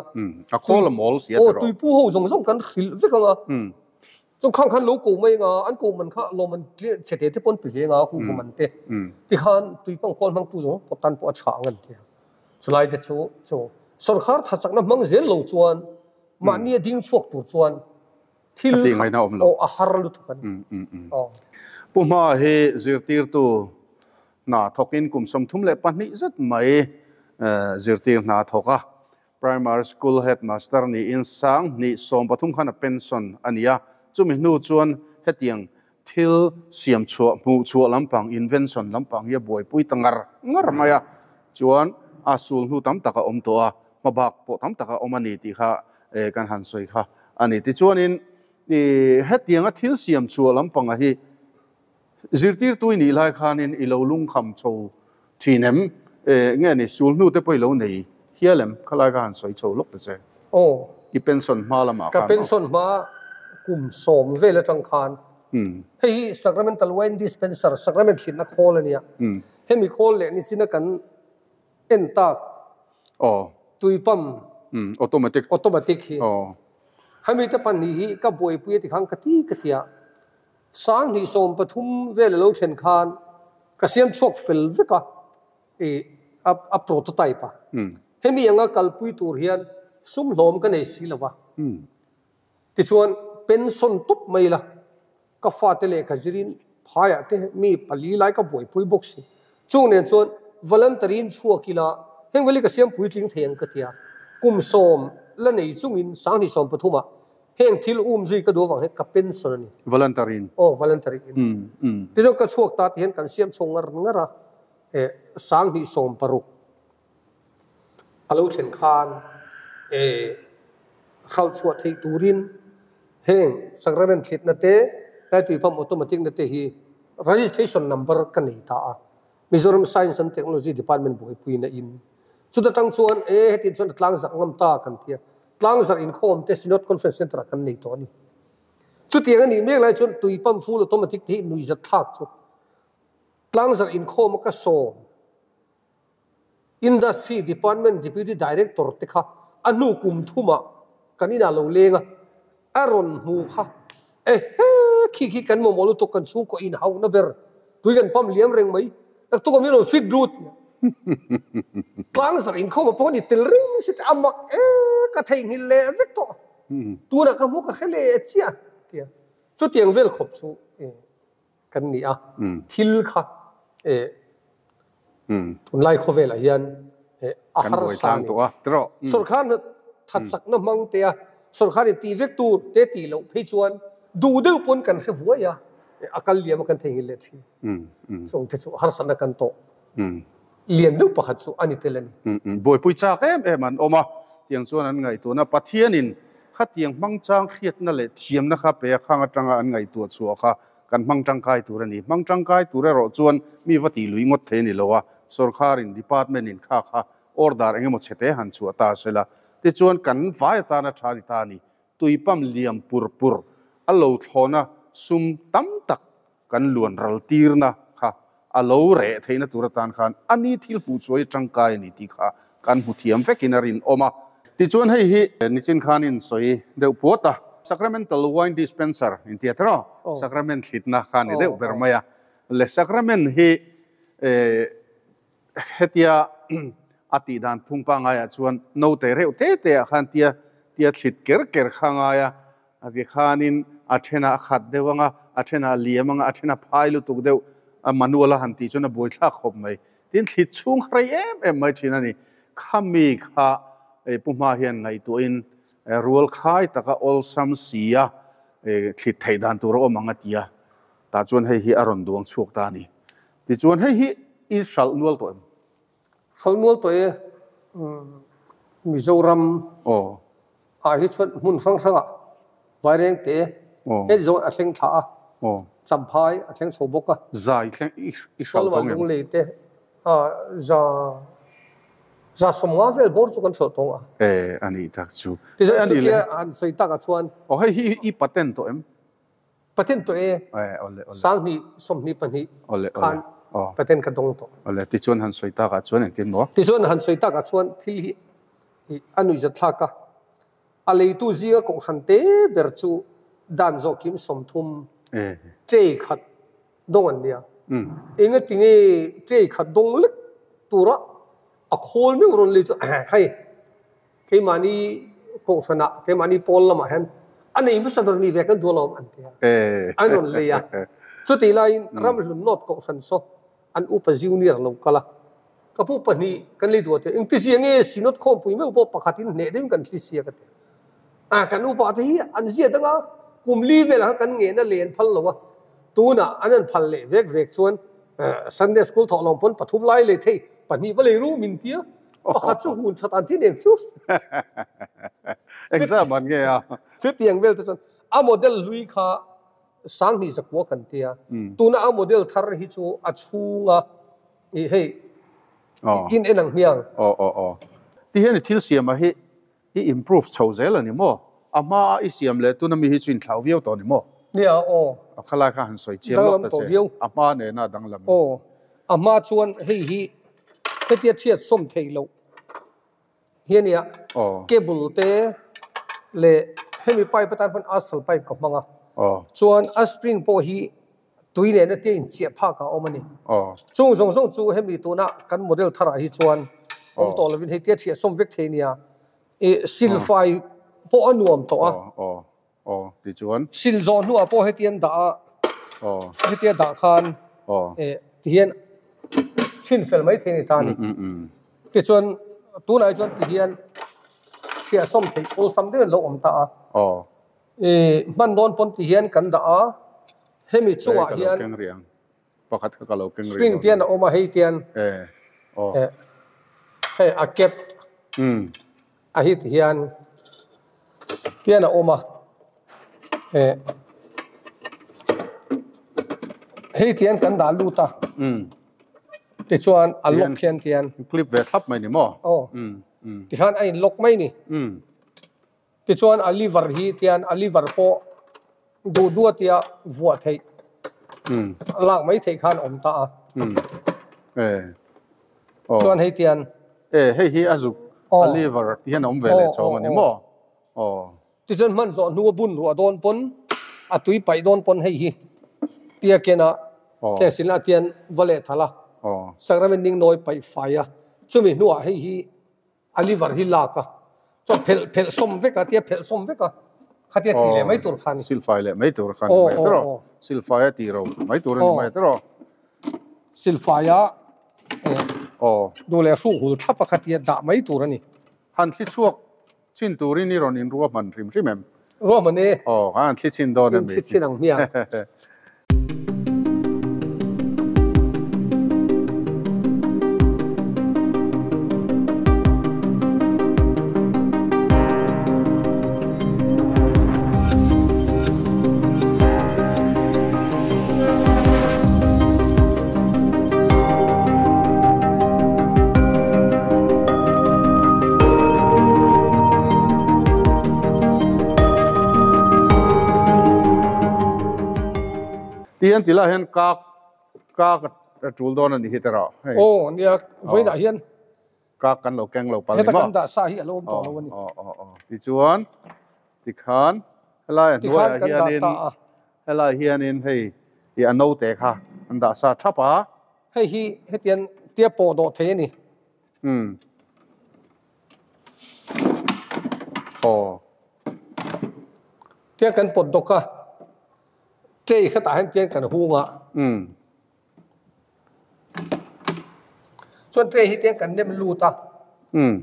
a khawl a mawl sia tiraw tuipu ho zawng zawng kan hrilh vek ang a chuan khang khan lo ko mai anga an ko man kha lawm an chhe te te pawn pe ve anga kuhva man te tikhan tuipang khawl hmangtu zawng zawng pawh tan pawh a tha ang an ti a chulai te chu chu sorkar thachakna hmang zel lo chuan mahni a ding chhuak tur chuan thil aw a har lutuk a ni. Pu Hma hi zirtirtu hna thawkin kum 32 zet mai zirtir hna thawk a, Primary School Headmaster niin 2013 khan a pension a ni a, chumi hnu chuan hetiang thil siam chhuah hmuh chhuah lampang invention lampang hi a buaipui ta ngar ngar mai a, chuan a sul hnu tam tak a awm tawh a, hmabak pawh tam tak a awm a ni tih kha kan han sawi kha a ni. Tichuanin hetianga thil siam chhuah lampanga hi zirtirtu i nih lai khanin i lo lungkham chho thin em? Nge ni sul hnu te pawh i lo nei hial em? Khalai kha han sawi chho lawk ta che. Aw. I pension hma lamah khan. Ka pension hma kum 10 vel atang khan hei hi Sacramental Wine Dispenser, Sacrament thlinna khawl a nia. Hemi khawl leh nichina kan en tak tui pump automatic automatic hi hemi te pahnih hi ka buaipui a ti khan ka ti ka ti a, 2013 vel a lo thlen khan ka siam chhuak fel vek a, ih a prototype a, hemi anga kalpui tur hian sum hlawm ka nei si lo va, tichuan pension tawp mai la Ka fate lehkha zirin phaiah te mi pali lai ka buaipui bawk si. Chung nen chuan voluntary in chhuak ila heng veli ka siam puitling thei ang ka ti a. Kum 10 la nei chungin 2013 ah heng thil um zui ka duh avang hian ka pension a ni. Voluntary in? Aw, voluntary in. Tichuan ka chhuak ta ti hian kan siam chho ngar ngar a, 2016 a lo thlen khan hralh chhuah theih turin heng sacrament thlitna te, Laitui Pump Automatic na te hi registration number ka nei ta a, Mizoram Science and Technology Department buaipuina in. Chuta tang chuan e hetiang chuan a tlangzarh ngam ta kan ti a, tlangzarh inkhawm te Synod Conference Centre ah kan nei tawh a ni. Chutiang a nih mek lai chuan tui pump full automatic te hi nuihzat thlak chu tlangzarh inkhawm a ka sawm. Industry Department Deputy Director te kha a hnu kum thumah kan inah lo leng a, a rawn hmu kha, Ehe, khi khi kan mamawh lutuk kan chhungkaw inhauhna ber, tui kan pump liam reng mai, naktuk a min rawn fit ru tia. Tlangzarh inkhawm ah pawh ni tel reng si te, a mak e, ka theihnghilh leh vek tawh, tunah ka hmu ka hre leh chiah tia. Chutiang vel khawp chu kan ni a, thil kha tunlai khawvelah hian a harsa a ni. Sorkar hna thatchakna hmang te a, sorkar in tih vek tur te tih loh phei chuan duh deuh pawn kan hre vuai a, a kal liam a kan theihnghilh leh thin. Chung te chu harsatna kan tawh lian deuh pakhat chu a ni tel a ni. Buaipui chak em em an awm a. Tiang chuan an ngaihtuahna Pathianin khatiang hmangchang hriatna leh thiamna kha pe a khang atanga an ngaihtuah chhuah kha kan hmang tangkai tur a ni. Hmang tangkai tur erawh chuan mi va tih lui ngawt thei a ni lo a, sorkarin department in kha kha order eng emaw chhete han chhuah ta sela tichuan kan vai atana tha a ni ta a ni. Tui pump liam pur pur a lo thlawna sum tam tak kan luan ral tirna kha a lo reh theihna tur atan khan a ni thil hmuh chuai tangkai a ni tih kha kan hmu thiam vekin a rinawm a. Tichuan hei hi nichin khan in sawi deuh puat a, Sacramental Wine Dispenser in tia tiraw? Sacrament thlitna kha a ni deuh ber mai a. Le Sacrament hi hetia a tih dan phung pangaiah chuan note reuh te te ah khan tia tia thlit ker ker kha ngai a, A vi khanin a thenah a khat deuh ang a, a thenah a liam ang a, a thenah phai lutuk deuh a manual a han tih chuan a buaithlak khawp mai. Tin, thlit chhung kha rei em em mai thin a ni. Khami kha Pu Hma hian ngaihtuahin rual khai taka awlsam si a thlit theih dan tur a awm ang a ti a, tah chuan hei hi a rawn duang chhuak ta a ni. Tichuan hei hi i hralh nual tawh em? Hralh nual tawh e, Mizoram ah hi chuan hmun hrang hrangah Vairengte he zawn a thleng thla a, Champhai a thleng chho bawk a. Zai thleng i hralh tawng em? Lunglei te za za 50 vel bawr chu kan hralh tawng a. E a nih tak chu. Tichuan chutia han sawi takah chuan. Aw hei hi i patent tawh em? Patent tawh e, 2022 khan patent ka dawng tawh. Awle, tichuan han sawi takah chuan engtin maw? Tichuan han sawi takah chuan thil hi a nuihzat thlak a, a leitu zinga kohhran te ber chu dan zawh kim 30 tray khat dawng an nia. Engatinge tray khat dawng lek tura a khawl meuh rawn lei chu hei Keimahni kohhranah, keimahni pawl lamah hian a nei hmasa ber ni ve kan duh alawm an ti a, an rawn lei a. Chutih laiin Ramhlun North kohhran saw an upa junior lo kal a, ka pu pahnih kan lei duh a ti a, engtizia nge Synod khawmpui meuh pawh pakhatin hneh deuhin kan thli sia ka ti a. Kan upa te hi an zia dang a, kum li velah khan kan ngehna len phal lo a, tunah an han phal leh vek vek chuan Sunday school thawh lawm pawn pathum lai lei thei pahnih va lei ru min ti a. Pakhat chu hun that an ti nen chu. Exam an nge a. Chutiang vel te chuan a model hlui kha 2100 kan tia. Tuna a model thar hi chu a chhunga i hei in en ang hmiang. Aw aw aw. Ti hian i thil siam ah hi i improve chho zel a ni maw? A hma a i siam leh tuna mi hi chu inthlau viau tawh a ni maw? Nia aw. A khalai kha han sawi chiang lawk ta che. A hma nena danglam. Aw. A hma chuan hei hi hetia chhiat sawm theih loh hi a nia. Cable te leh hemi pipe atan khan asal pipe ka hmang a. Chuan a spring pawh hi tui nena tia inchiah phak ah a awm a ni. Chung zawng zawng chu hemi tuna kan model tharah hi chuan awm tawh lovin hei tia chhiah sawm vek thei a nia. Ih silfai pawh a nuam tawh a. Sil zawh hnuah pawh hetian dah a, hetia dah khan ih tihian chhin fel mai thei a ni ta a ni. Tichuan tunah hi chuan tihian chhiah sawm theih awlsam deuhin a lo awm ta a. I hman dawn pawn ti hian kan dah a, hemi chungah hian spring tian a awm a, hei tian hei a cap a hi ti hian tian a awm a, hei tian kan dah lut a, tichuan a lock hian tian clip ve thlap mai ni maw? Aw, tikhan a in lock mai ni. Tichuan a liver hi tian a liver pawh duh duh a tia vuah theih lak mai theih khan awm ta a. Chuan hei tian. E hei hi a zuk a liver ti hian a awm ve leh chhawng a ni maw? Tichuan hman zawh hnu a bun ruah dawn pawn a tui paih dawn pawn hei hi tia ken a keng silna a tian va leh thalh a sacrament ning nawi paih fai a chumi hnuah hei hi A liver hi lak a, chuan phelh phelh sawm vek a, tia phelh sawm vek a, khatia tih leh mai tur kha a ni. Silfai leh mai tur kha a ni mai tawh. Silfai a tih ro mai tur a ni mai tawh. Silfai a duh leh hruk hul thlap a khatia dah mai tur a ni. Han thli chhuak chin turin i rawn inruahman hrim hrim em? Ruahman e. Aw, han thli chin dawn em? In thli chin ang hmiang. Ti hian ti lai hian kak kak a tul dawn a ni hi te rawh hei. Aw nia vawiinah hian kak kan lo keng lo palh ni maw? Heta kan dah sa hi a lo awm tawh lo a ni. Aw aw aw tichuan tikhan helai a hnuaiah hianin helai hianin hei i a note kha an dah sa thap a. Hei hi hetiang tia pawh dawh thei a ni. Umm. Aw. Tiang kan pawt dawk a. Tray khatah hian tiang kan hung a. Umm. Chuan tray hi tiang kan nem lut a. Umm.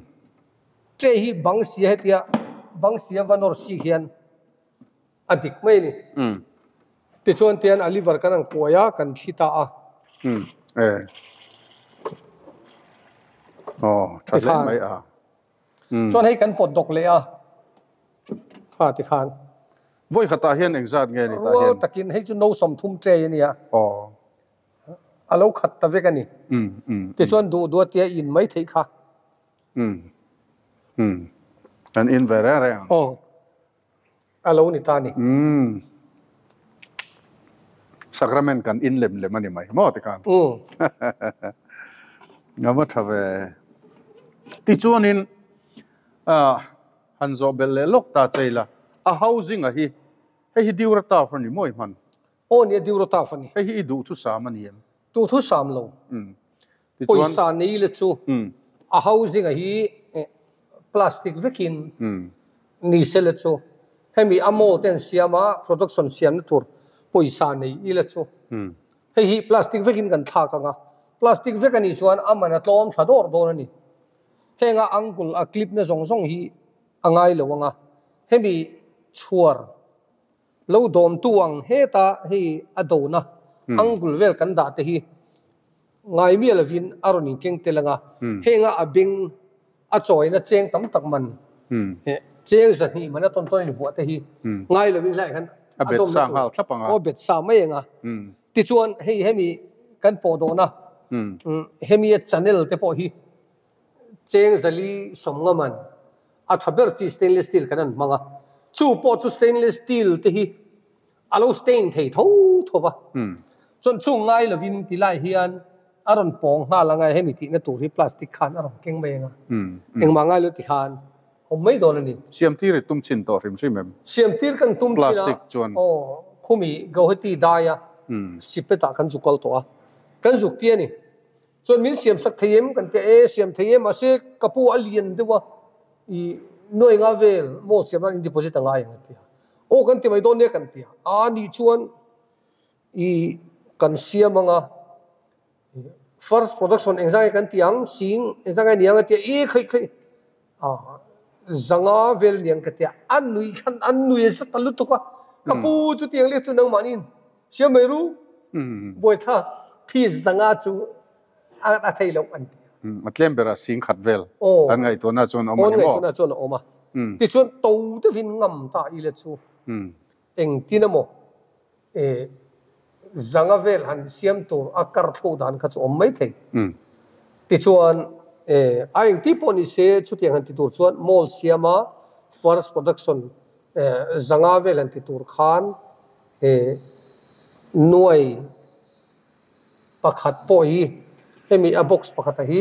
Tray hi bang sia hetia bang sia va nawr sik hian a dik mai a ni. Umm. Tichuan tian a liver kan ang kuai a, kan thli ta a. Umm. E. Aw, tha hle mai a. Umm. Chuan hei kan pawt dawk leh a. Kha tikhan. Vawi khatah hian engzat nge ni tah hian? Rual takin hei chu no 30 tray a nia. Aw. A lo khat ta vek a ni. Umm umm. Tichuan duh duh a tia in mai theih kha. Umm umm. Kan in ve reng reng ang. Aw. A lo ni ta a ni. Umm. Sacrament kan in lem lem a ni mai maw tikhan. Umm. Nga va tha ve. Tichuanin ah. Han zawh belh leh lawk ta che ila, a housing a hi, hei hi Durataf a ni maw i hman? Aw nia Durataf a ni. Hei hi i duhthusam a ni em? Duhthusam lo. Umm. Tichuan. Pawisa nei le chu a housing a hi plastic vekin ni se le chu hemi a mall te an siam a, production siamna tur pawisa nei ila chu hei hi plastic vekin kan thlak ang a, plastic vek a nih chuan a man a tlawm thla dawr dawn a ni. Henga angle a clip na zawng zawng hi a ngai lo ang a, hemi chhuar lo dawmtu ang heta hei a dona angle vel kan dah te hi ngai miah lovin a rawn inkeng tel ang a, henga a beng a chawina cheng tam tak man cheng 200 man a tawn tawn invuah te hi ngai lovin helaiah hian a bet sa nghal thlap ang a. Aw bet sa mai ang a. Tichuan hei hemi kan pawh dawhna hemi a channel te pawh hi cheng 450 man a tha ber chi stainless steel kan an hmang a, chu pawh chu stainless steel te hi a lo stain thei tho tho va, chuan chung ngai lovin ti lai hian a rawn pawng nghal anga hemi tihna tur hi plastic khan a rawn keng mai anga engmah ngai lo ti khan awm mai dawn a ni. Siamtir i tum chin tawh hrim hrim em? Siamtir kan tum chin a, Plastic chuan. Aw, khumi Guwahati daia sipetah kan zuk kal tawh a, kan zuk ti a ni. Chuan min siam sak thei em kan ti a, e siam thei e mahse ka pu a lian deuh a, i nuai nga vel mall siam nan in deposit a ngai ang a ti a, aw kan ti mai dawn nia kan ti a, a nih chuan i kan siam ang a, first production engzah nge kan ti ang, sing engzah nge ni ang a ti a, e khaih khaih a zanga vel niang ka ti a, a nui khan a nui a zat ta lutuk a, ka pu chutiang leh chu nangmahniin Siam mai ru, buaithlak fees zanga chu a thei loh an ti a. A tlem berah sing khat vel an ngaihtuahna chuan a awm a ni maw? Aw, an ngaihtuahna chuan a awm a. Tichuan to deuhin ngam ta ila chu engtin emaw zanga vel han siam tur a kar thlo dan kha chu awm mai thei. Tichuan a engti pawh ni se chutiang han ti tur chuan mall siama first production zanga vel han ti tur khan He nuai pakhat pawh hi hemi a box pakhata hi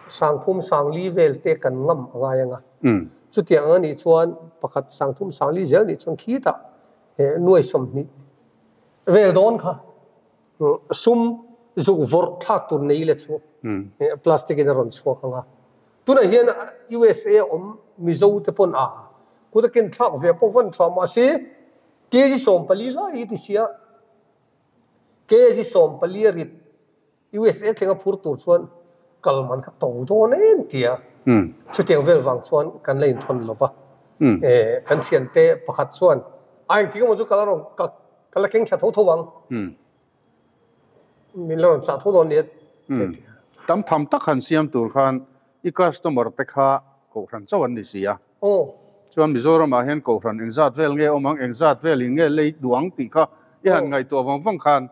30 40 vel te kan ngam a ngai ang a. Chutiang ang anih chuan pakhat 30 40 zel nih chuan khitah nuai 20 vel dawn kha sum zuk vawrh thlak tur nei le chu plastic in a rawn chhuak ang a. Tunah hian USA awm Mizo te pawn a kut a ken thlak ve pawh van tha mahse kg 14 lai hi ti sia kg 14 a rit USA thleng a phur tur chuan kal man kha to dawn em tia chutiang vel vang chuan kan la inthawn lo va kan thiante pakhat chuan a engtik emaw chu ka la rawn ka la keng thla tho tho ang. Min la rawn chah tho dawn nia te ti a. Tam tham tak han siam tur khan i customer te kha kohhran chauh an ni si a. Aw. Chuan Mizoramah hian kohhran engzat vel nge awm ang, engzat vel in nge lei duh ang tih kha i han ngaihtuah vang vang khan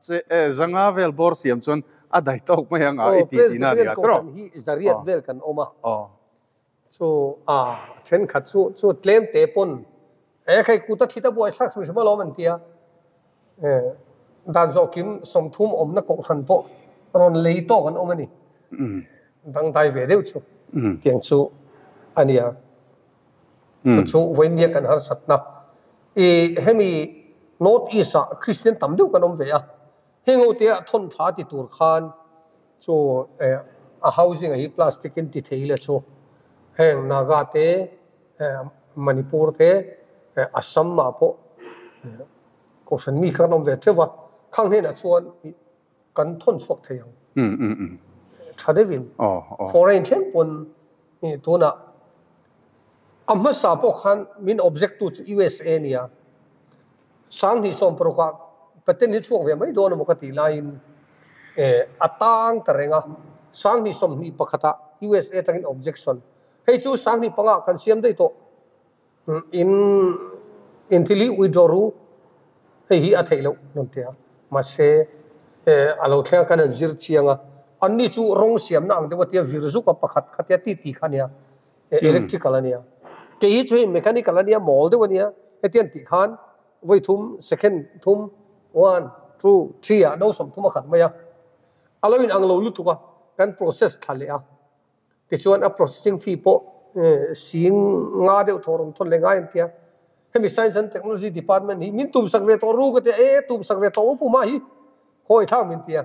che e zanga vel bawr siam chuan a dai tawk mai ang a i ti tihna a ni a tawrh. Aw, Presbyterian kohhran hi zariat vel kan awm a. Aw. Chu a thenkhat chu chu tlem te pawn E khai kuta thita buai thlak hrim hrim alawm an tia. Dan zawh kim 30 awmna kohhran pawh rawn lei tawk an awm a ni. Dangdai ve deuh chu tiang chu a nia. Chu chu vawinia kan harsatna. I hemi North East ah Christian tam deuh kan awm ve a. Heng ho te ah thawn thla ti tur khan chu a housing ah hi plastic in ti thei ila chu heng Naga te Manipur te Assam ah pawh Kohhran mi kha kan awm ve teuh a, khang hnenah chuan kan thawn chhuak thei ang. Tha deuhin foreign thleng pawn tunah a hmasa pawh khan min object tu chu USA a nia. 2016 ah patent hi chhuak ve mai dawn emaw ka tih laiin a tang ta reng a, 2021 ah USA atangin objection. Hei chu 2005 ah kan siam daih tawh. In in thil hi withdraw ru hei hi a theih loh rawn ti a, mahse a lo thleng a kan han zir chiang a, anni chu rawng siamna ang deuh a tia vir zuk a pakhat kha tia ti ti kha a nia, electrical a nia, kei hi chu hei mechanical a nia mawl deuh a nia, hetiang an tih khan vawi thum second thum one two three ah no 30 a khat mai a, a lo in ang lo lutuk a kan process thla leh a. Tichuan a processing fee pawh sing nga deuh thaw rawn thawn leh ngai an tia. Hemi Science and Technology Department hi min tumsak ve tawh ru ka tia, e tumsak ve tawh u puma hi khawi thlak min tia.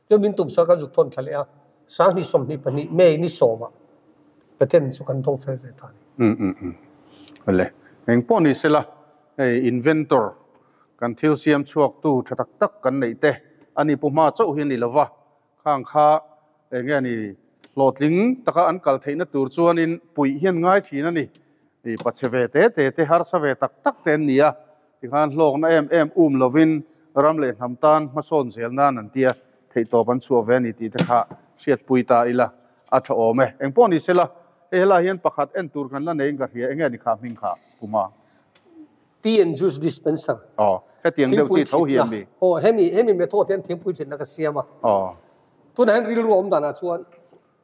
Chuan min tumsak kan zuk thawn thla leh a, 2022 May ni sawmah patent chu kan dawng fel ve ta a ni. Um um um. Awle, eng pawh ni sela hei inventor kan thil siam chhuaktu tha tak tak kan neih te a ni pu hma chauh hi a ni lova, Khang kha eng nge ni hlawhtling taka an kal theihna tur chuanin puih hian ngai thin a ni. I pachhe ve te te te harsa ve tak tak te an ni a, tikhan hlawkna em em um lovin ram leh hnam tan hmasawn zel nan an tia theihtawp an chhuah ve a ni tih te kha hriatpui ta ila a tha awm e. Engpawh ni sela, hei helai hian pakhat en tur kan la neiin ka hria, eng nge ni kha hming kha Puma? Tea and juice dispenser. Aw, hetiang deuh chi tho hi an ni. Aw, hemi, hemi method hian thingpui thinna ka siam a. Aw. Tunah hian rilru a awm danah chuan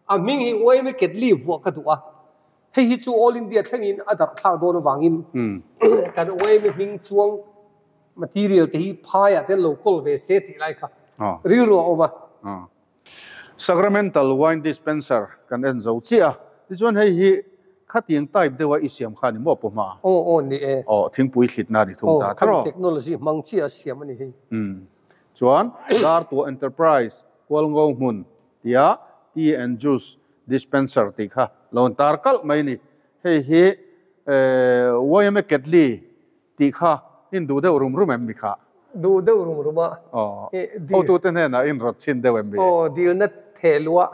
a hming hi YMA Ketli vuah ka duh a. Hei hi chu All India thlengin a darh thlak dawn avangin kan YMA hming chuang material te hi phaiah te an lo kawl ve se tih lai kha rilru a awm a. Aw. Sacramental wine dispenser kan en zo chiah a, tichuan hei hi khatiang type deuha i siam kha a ni maw pawh hma? Aw aw ni e. Aw thingpui thlitna a ni thung ta tho. Aw technology hmang chiah a siam a ni hei. Umm chuan Dartuah Enterprise Kualngo hmun tia tea and juice dispenser tih kha lo an tar kalh mai a ni. Hei hi YMA Ketli Tih kha in duh deuh rum rum em mi kha? Duh deuh rum rum a. Aw. Hotute hnenah in rawt chhin deuh em mi? Aw, dilna theh luah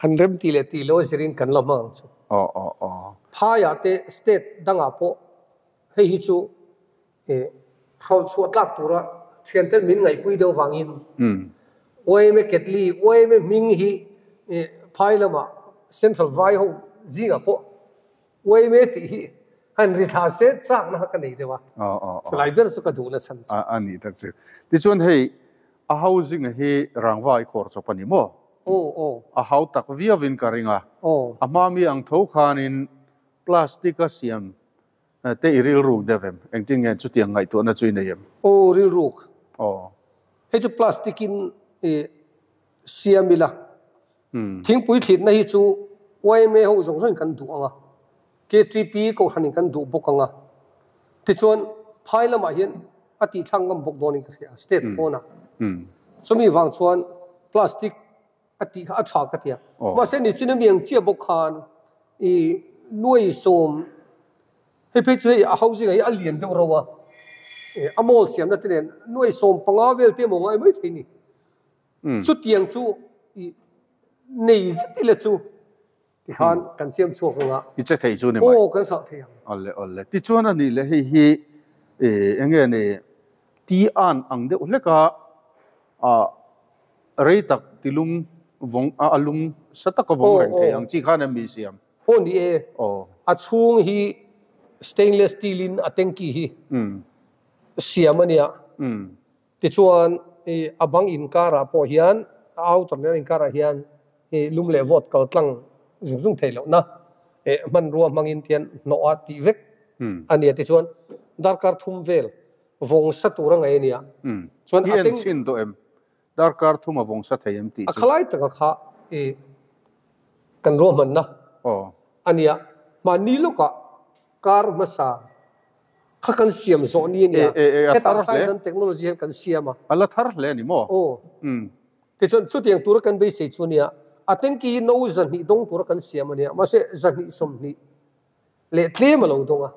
an rem tih leh tih lo zirin kan la hmang ang chu. Aw, aw, aw. Phaiah te state dangah pawh hei hi chu hralh chhuah tlak tura thianten min ngaihpui deuh vangin YMA Ketli, YMA hming hi phai lamah Central vai ho zingah pawh YMA tih hi han ri thla se chakna kha ka nei deuh a, chulai ber chu ka duhna chhan chu. A nih tak chu. Tichuan hei a housing hi rangva i khawr chawp a ni maw? Aw aw. A hau tak viauin ka ring a. Aw. A hma mi ang tho khanin plastic a siam te i rilruk deuh em? Engtin nge chutiang ngaihtuahna chu i nei em? Aw rilruk. Aw. Hei chu plastic in siam ila. Thingpui thlitna hi chu yma ho zawng zawngin kan duh ang a, KTP kohhranin kan duh bawk ang a. Tichuan, phai lamah hian a tihthlang ngam bawk dawnin ka hria, state pawnah. Chumi vang chuan plastic a tih kha a tha ka ti a. Mahse, nichin ami ang chiah bawk khan i nuai sawm, hei phei chu hei a housing ah hi a lian deuh ro a, a mall siamna te nen nuai 15 vel te emaw ngai mai thei ni. Chutiang chu i nei zet ila chu tikhan kan siam chhuak ang a. I che thei chu ni mai. Aw kan hralh thei ang. Awle awle. Tichuan a nih leh hei hi eng nge ni ti an ang deuh hlek a rei tak tilum vawng a lum sa taka vawng reng thei ang chi khan em mi siam? Aw ni e. A chhung hi stainless steel in a tanky hi siam a nia. Tichuan, i a bang inkarah pawh hian, a outer nen inkarah hian i lum leh vawt kal tlang zung zung theih lohna hmanrua hmangin tian hnawh a tih vek a nia. Tichuan, darkar thum vel vawng sa tur a ngaih a nia. Chuan a teng. I en chhin tawh em? Darkar thum a vawng sa thei em tih chu. A khalai taka kha i kan ruahmanna a nia. Mahni lawkah kar hmasa kha kan siam zawh ni a nia. Hetah science and technology hian kan siam a. A la thar hle a ni maw? Aw. Tichuan chutiang tura kan beisei chu a nia. A tanki hi no 200 dawng tura kan siam a nia. Mahse 220 leh tlem a lo dawng a,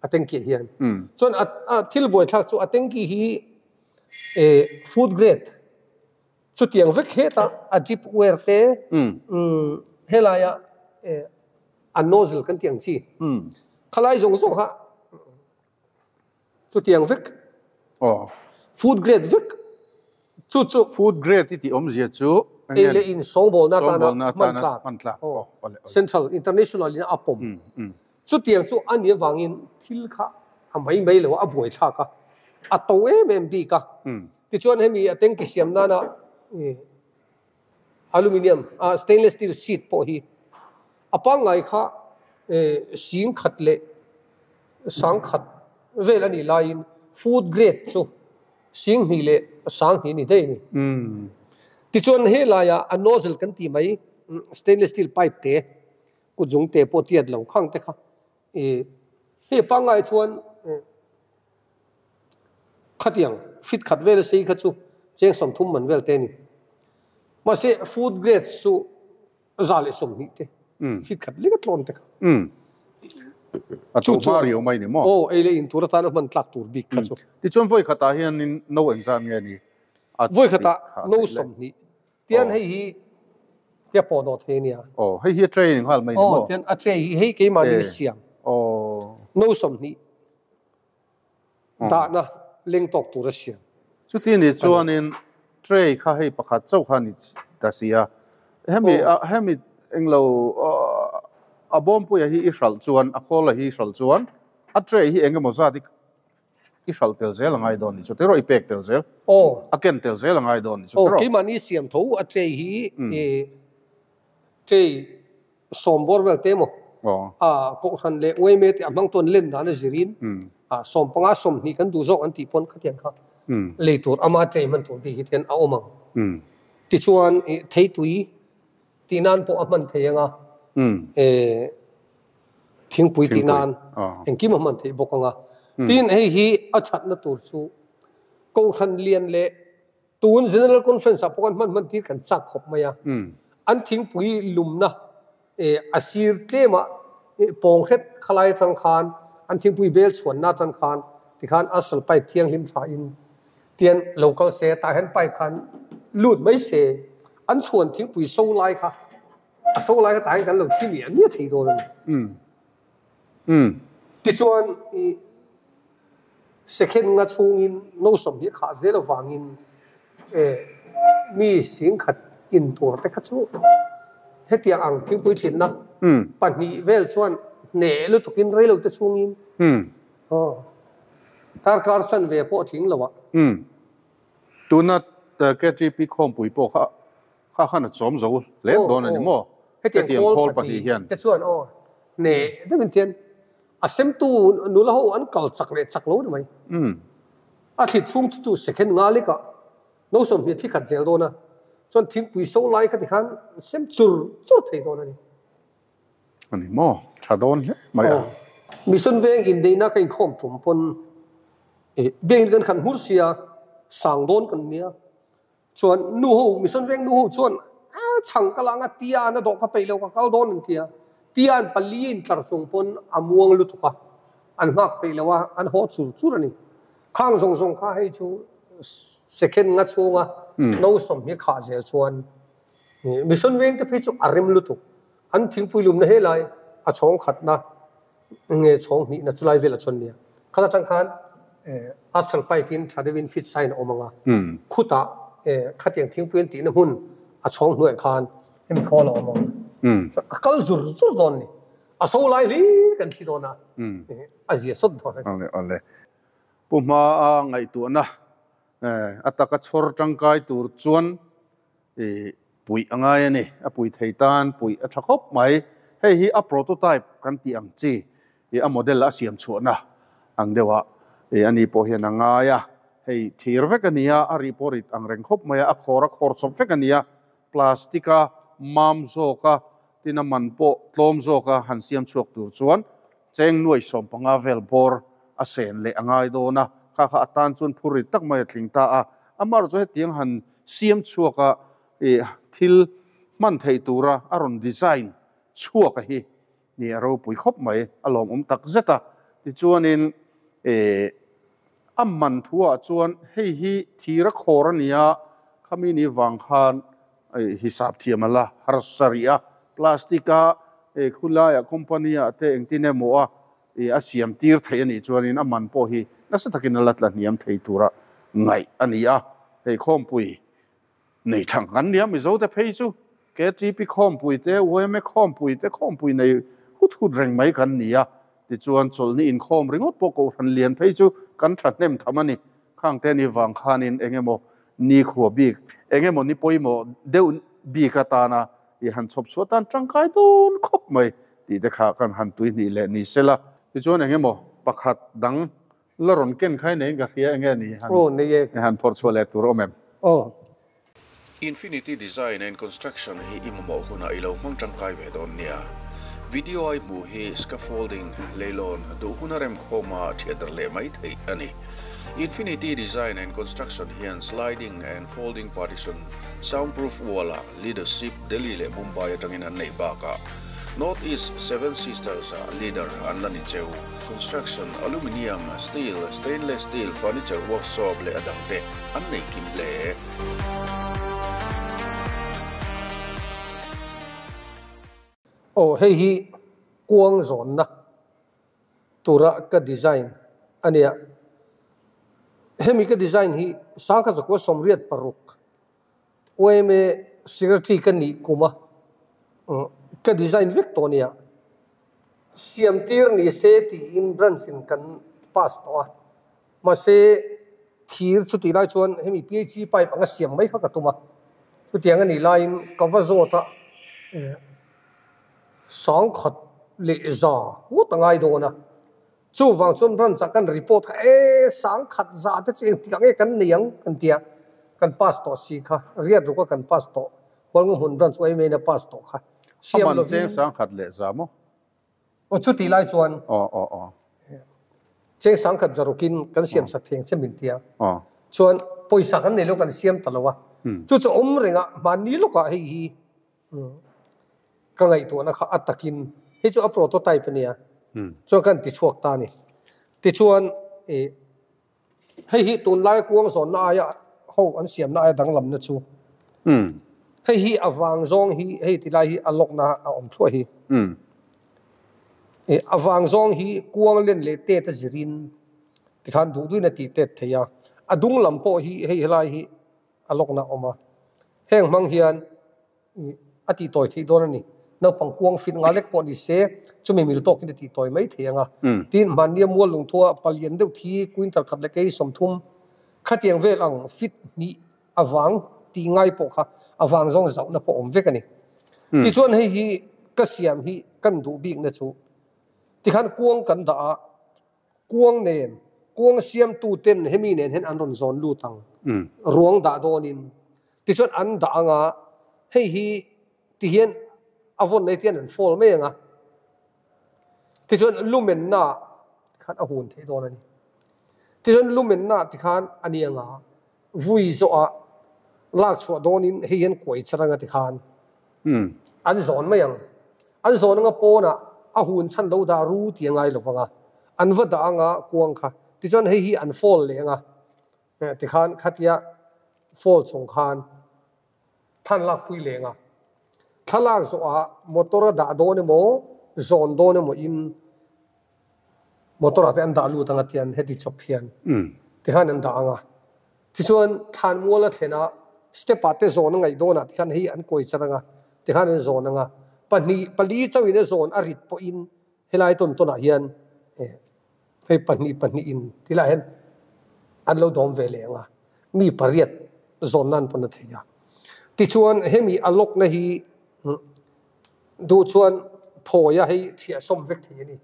a tanki ah hian. Chuan a thil buaithlak chu a tanki hi food grade chutiang vek hetah a drip ware te helaia a nozzle kan tih ang chi khalai zawng zawng kha Chutiang vek. Aw. Food grade vek. Chu chu. Food grade i tih awmzia chu eng nge? Ei leh in sawngbawlna atana hman tlak. Hman tlak. Aw. Central, international in a pawm. Chutiang chu a nih avangin thil kha a mai mai lo a, a buaithlak a, a to em em bik a. Tichuan hemi a tanki siam nana aluminium, stainless steel sheet pawh hi a pangngai kha sing khat leh sang khat vel a nih laiin food grade chu sing hnih leh sang hnih a ni daih a ni. Tichuan helaia a nozzle kan tih mai stainless steel pipe te kutzung te pawh tiat lo khang te kha hei pangngai chuan Khatiang fit khat vel sei kha chu cheng 30 man vel te a ni. Mahse food grade chu 120 te fit khat lek a tlawn te kha. A chu hma riau mai ni maw? Aw, ei leh in tur atana hman tlak tur bik kha chu. Tichuan vawi khatah hianin no engzat nge ni? Vawi khatah no 20. Tian hei hi tia pawh dawh thei a nia. Aw, hei hi a training nghal mai ni maw? Aw, tian a tray hi hei keimahni siam. Aw. No 20. Dahna leng tawk tur a siam. Chuti ni chuanin tray kha hei pakhat chauh kha ni ta si a, hemi hemi englo a bawmpuia hi i hralh chuan a khawla hi i hralh chuan a tray hi engemaw zat i hralh tel zel a ngai dawn ni chu tiraw i pek tel zel a ken tel zel a ngai dawn ni chu tiraw. Aw keimahni siam tho a tray hi tray Sawm bawr vel te maw? A kohhran leh uaime te a hmang tawn len dan a zirin 15 20 kan duh zawk an tih pawn khatiang kha lei tur ama chei hman tur bik hi ten a awm ang. Tichuan theitui tih nan pawh a hman thei ang a, thingpui tih nan engkim a hman theih bawk ang a. Tin hei hi a thatna tur chu kohhran lian leh Tun General Conference ah pawh khan hman hman tir kan chak khawp mai a. An thingpui lumna a sir tlem ah pawng hret khalai atang khan an thingpui bel chhuanna atang khan tikhan asal pipe thianghlim tha in tian lo kal se tah hian pipe khan lut mai se an chhuan thingpui so lai kha a so lai kha tah hian kan lo thli miah miah thei dawn a ni. Tichuan i Second nga chhungin no 20 khah zel avangin mi 10,000 in tur te kha chu hetiang ang thingpui thlinna pahnih vel chuan hneh lutukin reilo te chhungin darkar chanve pawh a tling lo a. Tuna KTP khawmpui pawh kha kha khan a chawm zo hle dawn a ni maw? Hetiang khawl pahnih hian. Te chuan aw hneh deuhin tian A semtu nula ho an kal chak leh chak lo ni mai. A thlit chhung chu chu second nga lekah no 20 thli khat zel dawn a, chuan thingpui so lai kha tikhan sem chur chur thei dawn a ni. A ni maw? Tha dawn hle mai a. Mission veng inneihna ka inkhawm tum pawn biakinn kan khan hmur sia, sang dawn kan nia. Chuan nu ho, mission veng nu ho chuan chhang ka la anga tia an a dawh ka peih lo ka kal dawn an ti a. Tia an pali in tlar chung pawn a muang lutuk a, an nghak peih lo a, an haw chur chur a ni. Khang zawng zawng kha hei chu second nga chhunga no 20 khah zel chuan mission veng te phei chu a rem lutuk. An thingpui lumna helai a chhawng khatna nge chhawng hnihna chu lai velah chuan nia. Khat atang khan astral pipe in tha deuhin fit sign a awm ang a, khutah khatiang thingpui an tihna hmun a chhawng hnuaiah khan hemi khawl a awm ang a, a kal zur zur dawn a ni. A so lai hlir kan thli dawn a, a zia sawt dawn a ni. Awle awle. Pu hmaa ngaihtuahna a taka chhawr tangkai tur chuan Puih a ngai a ni. A pui thei tan puih a tha khawp mai. Hei hi a prototype kan tih ang chi. A model a siam chhuahna ang deuha ani pawh hian a ngai a, hei thir vek a ni a, a rih pawh rit ang reng khawp mai a, a khawr a khawr chawp vek a ni a, plastic a mam zawk a, tin a man pawh tlawm zawk a han siam chhuak tur chuan cheng nuai 15 vel bawr a sen leh a ngai dawn a, kha kha atan chuan phur rit tak mai a tling ta a, amaherawhchu chu hetiang han siam chhuak a thil hman theih tura a rawn design chhuak a hi Ni a ropui khawp mai, a lawmawm tak zet a. Tichuanin eh a man thuah chuan hei hi thir a khawr a nia, khami ni vang khan hisap thiam a la harsa rih a, plastic a eh khulaiah company ah te engtin emaw a eh a siam tir theih a nih chuanin a man pawh hi nasa takin a la tla hniam thei tura ngaih a ni a, hei khawmpui Nei thang kan nia Mizo te phei chu KTP khawmpui te, yma khawmpui te khawmpui nei hut hut reng mai kan ni a, tichuan chawlhni inkhawm ringawt pawh Kohhran lian phei chu kan thahnem tham a ni. Khang te ni vang khanin eng emaw ni khua bik, eng emaw ni pawimawh deuh bik atana i han chhawp chhuah tan tangkai dawn khawp mai tih te kha kan han tuihnih leh ni sela. Tichuan eng emaw pakhat dang La rawn ken khai neiin ka hria enge ni han Aw nei e. Han phawrh chhuah leh tur awm em? Aw. Infinity Design and Construction hi i mamawh hunah i lo hmang tangkai ve dawn nia. Video a i hmuh hi scaffolding, leilawn, duh huna remkhawma thiat dar leh mai theih a ni. Infinity Design and Construction hian sliding and folding partition, soundproof wall-ah leadership Delhi leh Mumbai atangin an neih bakah North East Seven Sisters-ah leader an la ni cheu. Construction, aluminium, steel, stainless steel, furniture workshop leh a dangte an nei kim hle. Aw hei hi kuang zawnna tura ka design a nia. Hemi ka design hi sangkhat zakua 86 Yma secretary ka nih kum a, ka design vek tawh nia. Siam tir ni se tiin branch in kan pass tawh a, mahse thir chutih lai chuan hemi PHE pipe anga siam mai kha ka tum a, chutiang a nih laiin ka va zawt a, sangkhat leh za ngawt a ngai dawn a. Chuvang chuan branch ah kan report kha e sangkhat za te chu engtik ah nge kan nei ang kan ti a, kan pass tawh si kha, riat ruk a kan pass tawh, Hualngo hmun branch uai maiin a pass tawh kha, siam lovin. A man cheng sangkhat leh za maw? Aw chutih lai chuan. Aw aw aw. Cheng sangkhat za rukin kan siam sak thei ang che min ti a, chuan pawisa kan nei lo kan siam ta lo a, chu chu awm reng a hmanni lawkah hei hi Ka ngaihtuahna kha a takin hei chu a prototype a nia chuan kan ti chhuak ta a ni. Tichuan ih hei hi tunlaia kuang zawnna aia ho an siamna aia danglamna chu hei hi a vang zawng hi hei ti lai hi a lawkna a awm thluah hi. Ih a vang zawng hi kuang len leh tet a zirin tikhan duh duhin a tih tet thei a, a dung lam pawh hi hei helai hi a lawkna a awm a, heng hmang hian a tih tawi theih dawn a ni. Naupang kuang fit nga lek pawh ni se, chumi mil tawkin a tih tawi mai thei ang a. Tin, hmannia mual lungthua palian deuh thi quintal khat leh kei 30 khatiang vel ang fit hnih avang tih ngai pawh kha avang zawng zauhna pawh awm vek a ni. Tichuan hei hi ka siam hi kan duh bikna chu tikhan kuang kan dah a, Kuang nen, kuang siamtu ten hemi nen hian an rawn zawn lut ang. Ruang dah dawnin. Tichuan an dah ang a, hei hi ti hian a vawn nei tian an fall mai ang a. Tichuan lumenna tikhan a hun theih dawn a ni. Tichuan lumenna tikhan a ni ang a, vui zawhah lak chhuah dawnin hei hian kuai char ang a tikhan an zawn mai ang. An zawn anga pawnah a hun chhan lo dah ru tih a ngai lo vang a, an va dah anga kuang kha. Tichuan hei hi an fall leh anga tikhan khatia fall chung khan than lakpui leh anga thlalak zawhah motor a dah dawn emaw zawn dawn emaw in motor ah te an dah lut anga tian heti chawp hian tikhan an dah anga. Tichuan thlanmual a thlen a, step ah te zawn a ngaih dawn ah tikhan hei an kawi char anga, tikhan an zawn anga, pahnih pali chauhin a zawn a rit pawhin helai tawn tawn ah hian hei pahnih pahnih in tilai hian an lo dawm ve leh anga, mi pariat zawn nan pawn a thei a. Tichuan hemi a lock na hi duh chuan phawi a hei thiah sawm vek thei a ni.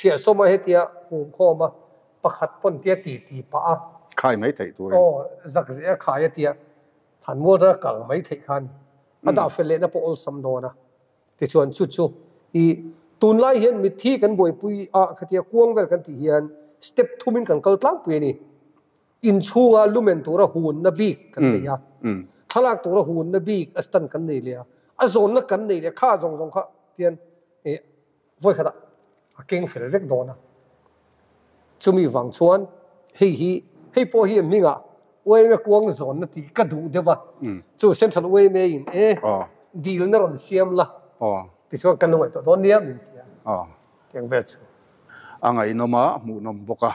Thiah sawma hetia hum khawm a, pakhat pawn tia ti ti pah a. Khai mai theih turin. Aw, zak zeh a khai a tia, Thanmual atanga kal mai theih kha a ni. A dah fel lehna pawh awlsam dawn a. Tichuan chu chu i tunlai hian mitthi kan buaipui a khatia kuang vel kan tih hian step thumin kan kal tlangpui a ni. Inchhunga lumen tura hunna bik kan nei a, thlalak tura hunna bik a stand kan nei leh a, a zawnna kan nei leh a, kha zawng zawng kha hian i vawi khatah a keng fel vek dawn a. Chumi vang chuan hei hi, hei pawh hi hmingah uaime kuang zawnna tih ka duh deuh a, chu Central uaime in e dilna rawn siam la tichuan kan lo ngaihtuah dawn nia min ti a, tiang vel chu. A ngaihnawm a, hmuhnawm bawk a,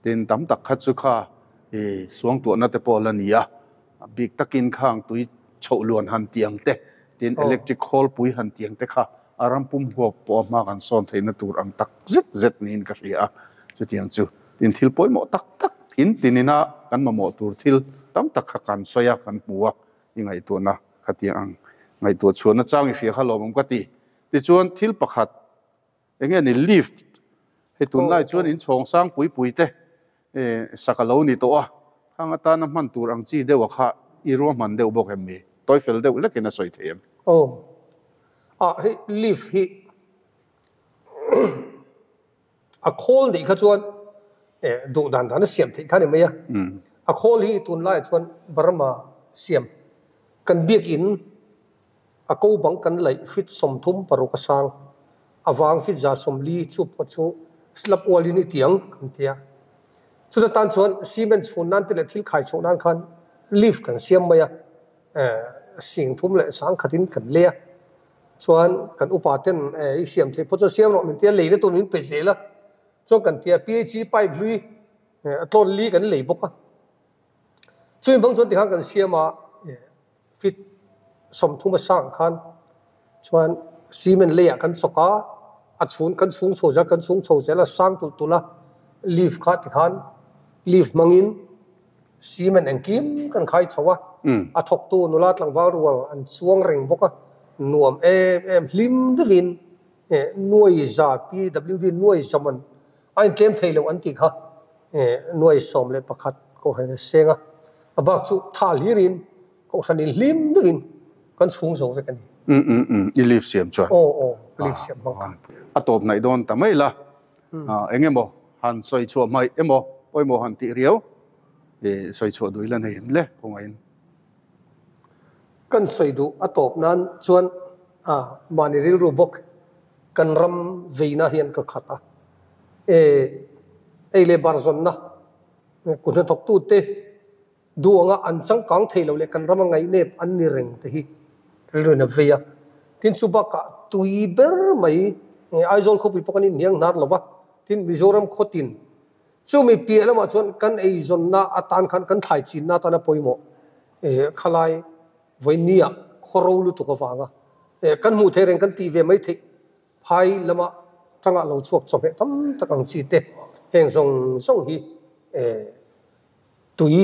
tin tam tak kha chu kha i suangtuahna te pawh la ni a, a bik takin khang tui chhoh luan han tiang te, tin electric khawlpui han tiang te kha a ram pum huap pawh a hma kan sawn theihna tur ang tak zet zet niin ka hria a, chutiang chu tin thil pawimawh tak tak in tinina kan mamawh tur thil tam tak kha kan sawi a, kan hmu a, i ngaihtuahna khatiang ang ngaihtuah chhuahna chang i hria kha lawmawm ka ti. Tichuan thil pakhat Enge ni lift? Hei tunlai chuan in chhawng sang pui pui te sak a lo ni tawh a, khang atana hman tur ang chi deuh a kha i ruahman deuh bawk em mi? Tawi fel deuh lekin a sawi thei em? Aw. Ah hei lift hi a khawl nih kha chuan duh dan dan a siam theih kha ni mai a. A khawl hi tunlaiah chuan Burma siam kan biakinn A ko bang kan laih fit 36 a sang, a vang fit 140 chu pawh chu slab ualin i tiang kan ti a. Chuta tan chuan cement chhun nan te leh thil khai chhoh nan khan lift kan siam mai a, sing thum leh sang khatin kan lei a. Chuan kan upa ten i siam theih pawh chuan siam rawh min ti a, leina tur min pe zel a. Chuan kan ti a, PHE pipe hlui a tlawn li kan lei bawk a. Chumi hmang chuan tikhan kan siam a. Fit 30 a sang khan chuan cement leiah kan chawk a, a chhun kan chhung chho zel kan chhung chho zel a sang tulh tulh a, leaf kha tikhan leaf hmangin cement engkim kan khai chho a, a thawktu nula tlangval rual an chuang reng bawk a, nuam em em hlim deuhin nuai za PWD nuai zaman a intlem thei loh an tih kha nuai 11 kohhran a seng a, a bak chu tha hlirin kohhran in hlim deuhin kan chhung zo vek a ni. Umm umm umm i leave siam chuan. Aw aw leave siam hmang khan. A tawp hnaih dawn ta mai la, eng emaw han sawi chhuah hmaih emaw pawimawh han tih riau i sawi chhuah duh ila nei em le kawngaihin. Kan sawi duh a tawp nan chuan mahni rilru bawk kan ram veina hian ka khat a, ei leh bar zawnna kut hnathawktute duh anga an changkang thei lo leh kan rama ngaihnep an ni reng te hi rilruin a vei a. Tin, chu bakah tui ber mai Aizawl khawpui pawh kan inhniang hnar lo va, tin Mizoram khawtin chumi piah lamah chuan kan eizawnna atan khan kan thlai chinna atana pawimawh khalai vawinia khaw ro lutuk avanga kan hmuh theih reng kan tih ve mai theih Phai lama tangah lo chhuak chawhmeh tam tak ang chi te heng zawng zawng hi tui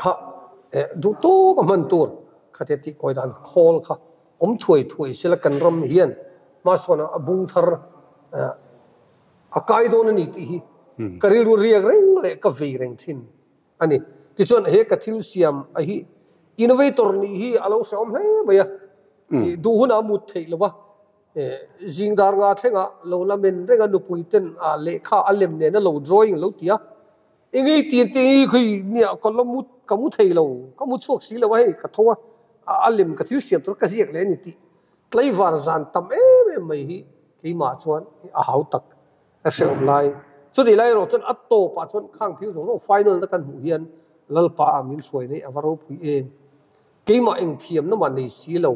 kha duh tawk a hman tur khatia tih kawi dan khawl kha awm thuai thuai sela kan ram hian hmasawn a bung thar a kai dawn a ni tih hi ka rilru riak reng leh ka vei reng thin a ni. Tichuan he ka thil siam a hi innovator nih hi a lo hrehawm hle mai a, duh hunah a mut theih lo va, zing dar nga thlengah lo la men reng a nupui ten a lehkha a lem nen a lo drawing lo ti a, engei tin te hi khawi nia ka la mu ka mu thei lo, ka mu chhuak si lo a hei ka tho a, a lem ka thil siam tur ka ziak leh a ni tih tlaivar zan tam em em mai hi keimah chuan a hau tak. A hrehawm lai. Chutih lai erawh chuan a tawpah chuan khang thil zawng zawng final na kan hmuh hian Lalpa ah min hruai nei a va ropui em. Keimah eng thiamna mah nei si lo.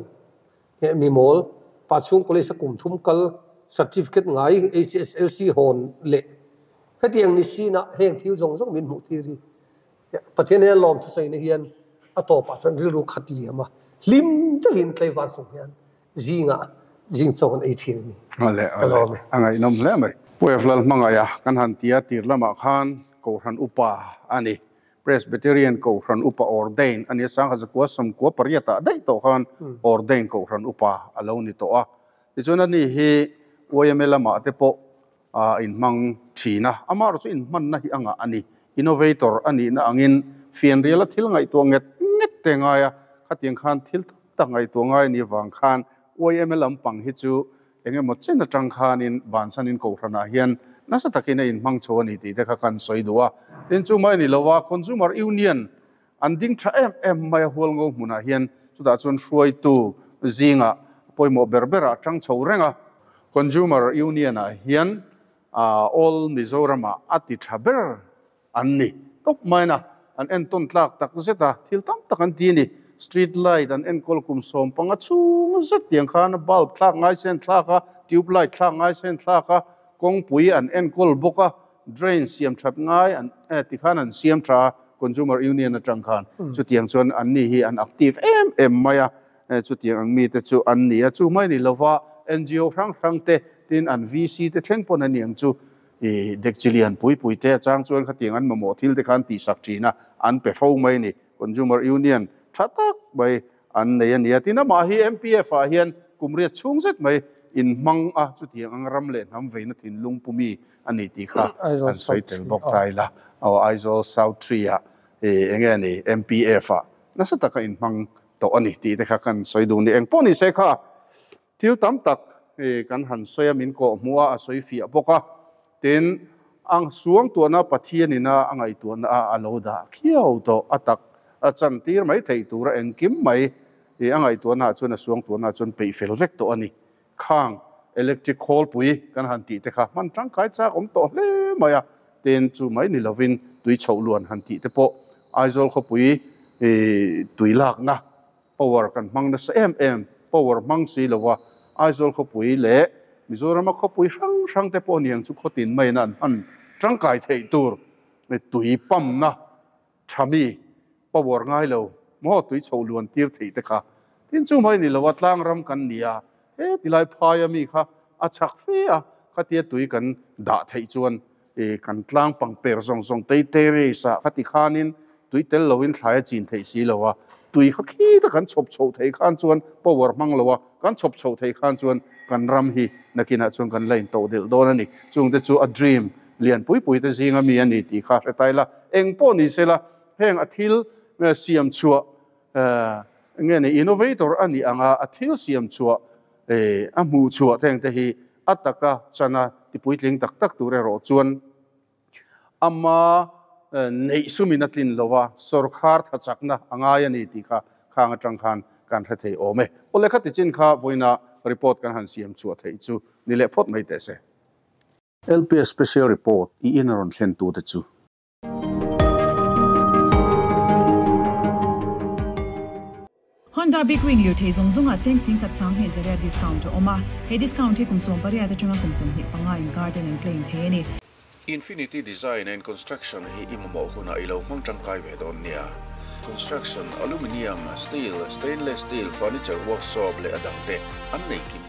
He mi mawl, pa chhung college a kum thum kal, certificate ngai HSLC hawn leh hetiang ni sin ah heng thil zawng zawng min hmuh tir hi Pathian hian lawm thusawi na hian a tawpah chuan rilru khat liam a, hlim deuhin tlaivar chung hian Zingah zing chaw kan ei thin a ni. Awle, awle. A ngaihnawm hle mai. Pu Eflal hmangaih a kan han ti a, tir lamah khan Kohhran Upa a ni. Presbyterian Kohhran Upa ordain a ni a, Sangha 1998 ah daih tawh khan ordain Kohhran Upa a lo ni tawh a. Tichuan ani hi YMA lamah te pawh. a inhmang thin a, amaherawhchu inhmanna hi a ngah a ni. Innovator a nihna angin fianriala thil ngaihtuah nget nget te ngai a, khatiang khan thil tam tak ngaihtuah ngai a nih avang khan YMA lampang hi chu eng emaw chen atang khanin bansanin kohhranah hian nasa takin a inhmang chho a ni tih te kha kan sawi duh a. Tin, chu mai a ni lo a, Consumer Union an ding tha em em mai a hualngo hmunah hian chutah chuan hruaitu zingah pawimawh ber berah a tang chho reng a. Consumer Union-ah hian All Mizoramah a ti tha ber an ni tawp mai na, an entawn tlak tak zet a, thil tam tak an ti a ni. Street light an enkawl kum 15 chhung zet tiang khan bulb thlak ngai sen thlak a, tube light thlak ngai sen thlak a, kawngpui an enkawl bawk a, drain siam that ngai an ti khan an siam tha a, Consumer Union atang khan chutiang chuan an ni hi an active em em mai a, chutiang ang mite chu an ni a, chu mai ni lova NGO hrang hrang te tin an VC te thleng pawn a niang chu i dekchi lian pui pui te achang chuan khatiang an mamawh thil te kha an tihsak thin a, an pe fo mai a ni. Consumer Union tha tak mai an nei a ni a, tin amah hi MPF ah hian kum riat chhung zet mai inhmang a, chutiang ang ram leh hnam veina thinlung pumi a ni tih kha an sawi tel bawk ta ila. Aw Aizawl South Tree ah eng nge ni MPF ah nasa taka inhmang tawh a ni tih te kha kan sawi duh ni. Engpawh ni se kha thil tam tak kan han sawi a, min kawh hmuh a, a sawi fiah bawk a. Tin, ang suangtuahna Pathianina a ngaihtuahna a a lo dah khiau tawh a tak a chantir mai theih tura engkim mai a ngaihtuahnaah chuan a suangtuahnaah chuan peih fel vek tawh a ni. Khang electric khawlpui kan han tih te kha hman tangkai chak awm tawh hle mai a, tin chu mai ni lovin tui chhoh luan han tih te pawh Aizawl khawpui tui lakna power kan hmang nasa em em, power hmang si lova Aizawl khawpui leh Mizorama khawpui hrang hrang te pawh niang chu khawtin maiin an hman tangkai theih tur tui pump na tha mi power ngai lo maw tui chho luan tir theih te kha tin chu mai ni lova tlang ram kan ni a, he tilai phaia mi kha a chak fe a, khatia tui kan dah theih chuan I kan tlang pang per zawng zawng tei terrace ah kha ti khanin tui tel loin thlai a chin theih si lo a, tui kha khi ta kan chhawp chhoh theih khan chuan power hmang lo a, kan chhawp chhoh theih khan chuan kan ram hi nakinah chuan kan la intoh delh dawn a ni. Chungte chu a dream lian pui pui te zinga mi a ni tih kha hre ta ila, eng pawh ni sela heng a thil siam chhuah nge ni innovator a nih anga a thil siam chhuah a hmuh chhuah te engte hi a taka chana tipuitling tak tak tur erawh chuan ama neih sumin a tlin lo a, sawrkhar tha chakna a ngai a ni tih kha khang atang khan kan hre thei awm e. Awle khati chin kha vawiina report kan han siam chhuah theih chu ni leh phawt mai teh se. LPS Special Report i in a rawn thlen tute chu. Honda Big Wing lirthei zawng zawngah cheng 10,200 zaria discount a awm a, he discount hi kum 18 atanga kum 25 inkar ten an claim thei a ni. Infinity Design and Construction hi i mamawh hunah i lo hmang tangkai ve dawn nia. Construction, Aluminium, Steel, Stainless Steel, Furniture Workshop leh a dangte an nei kim.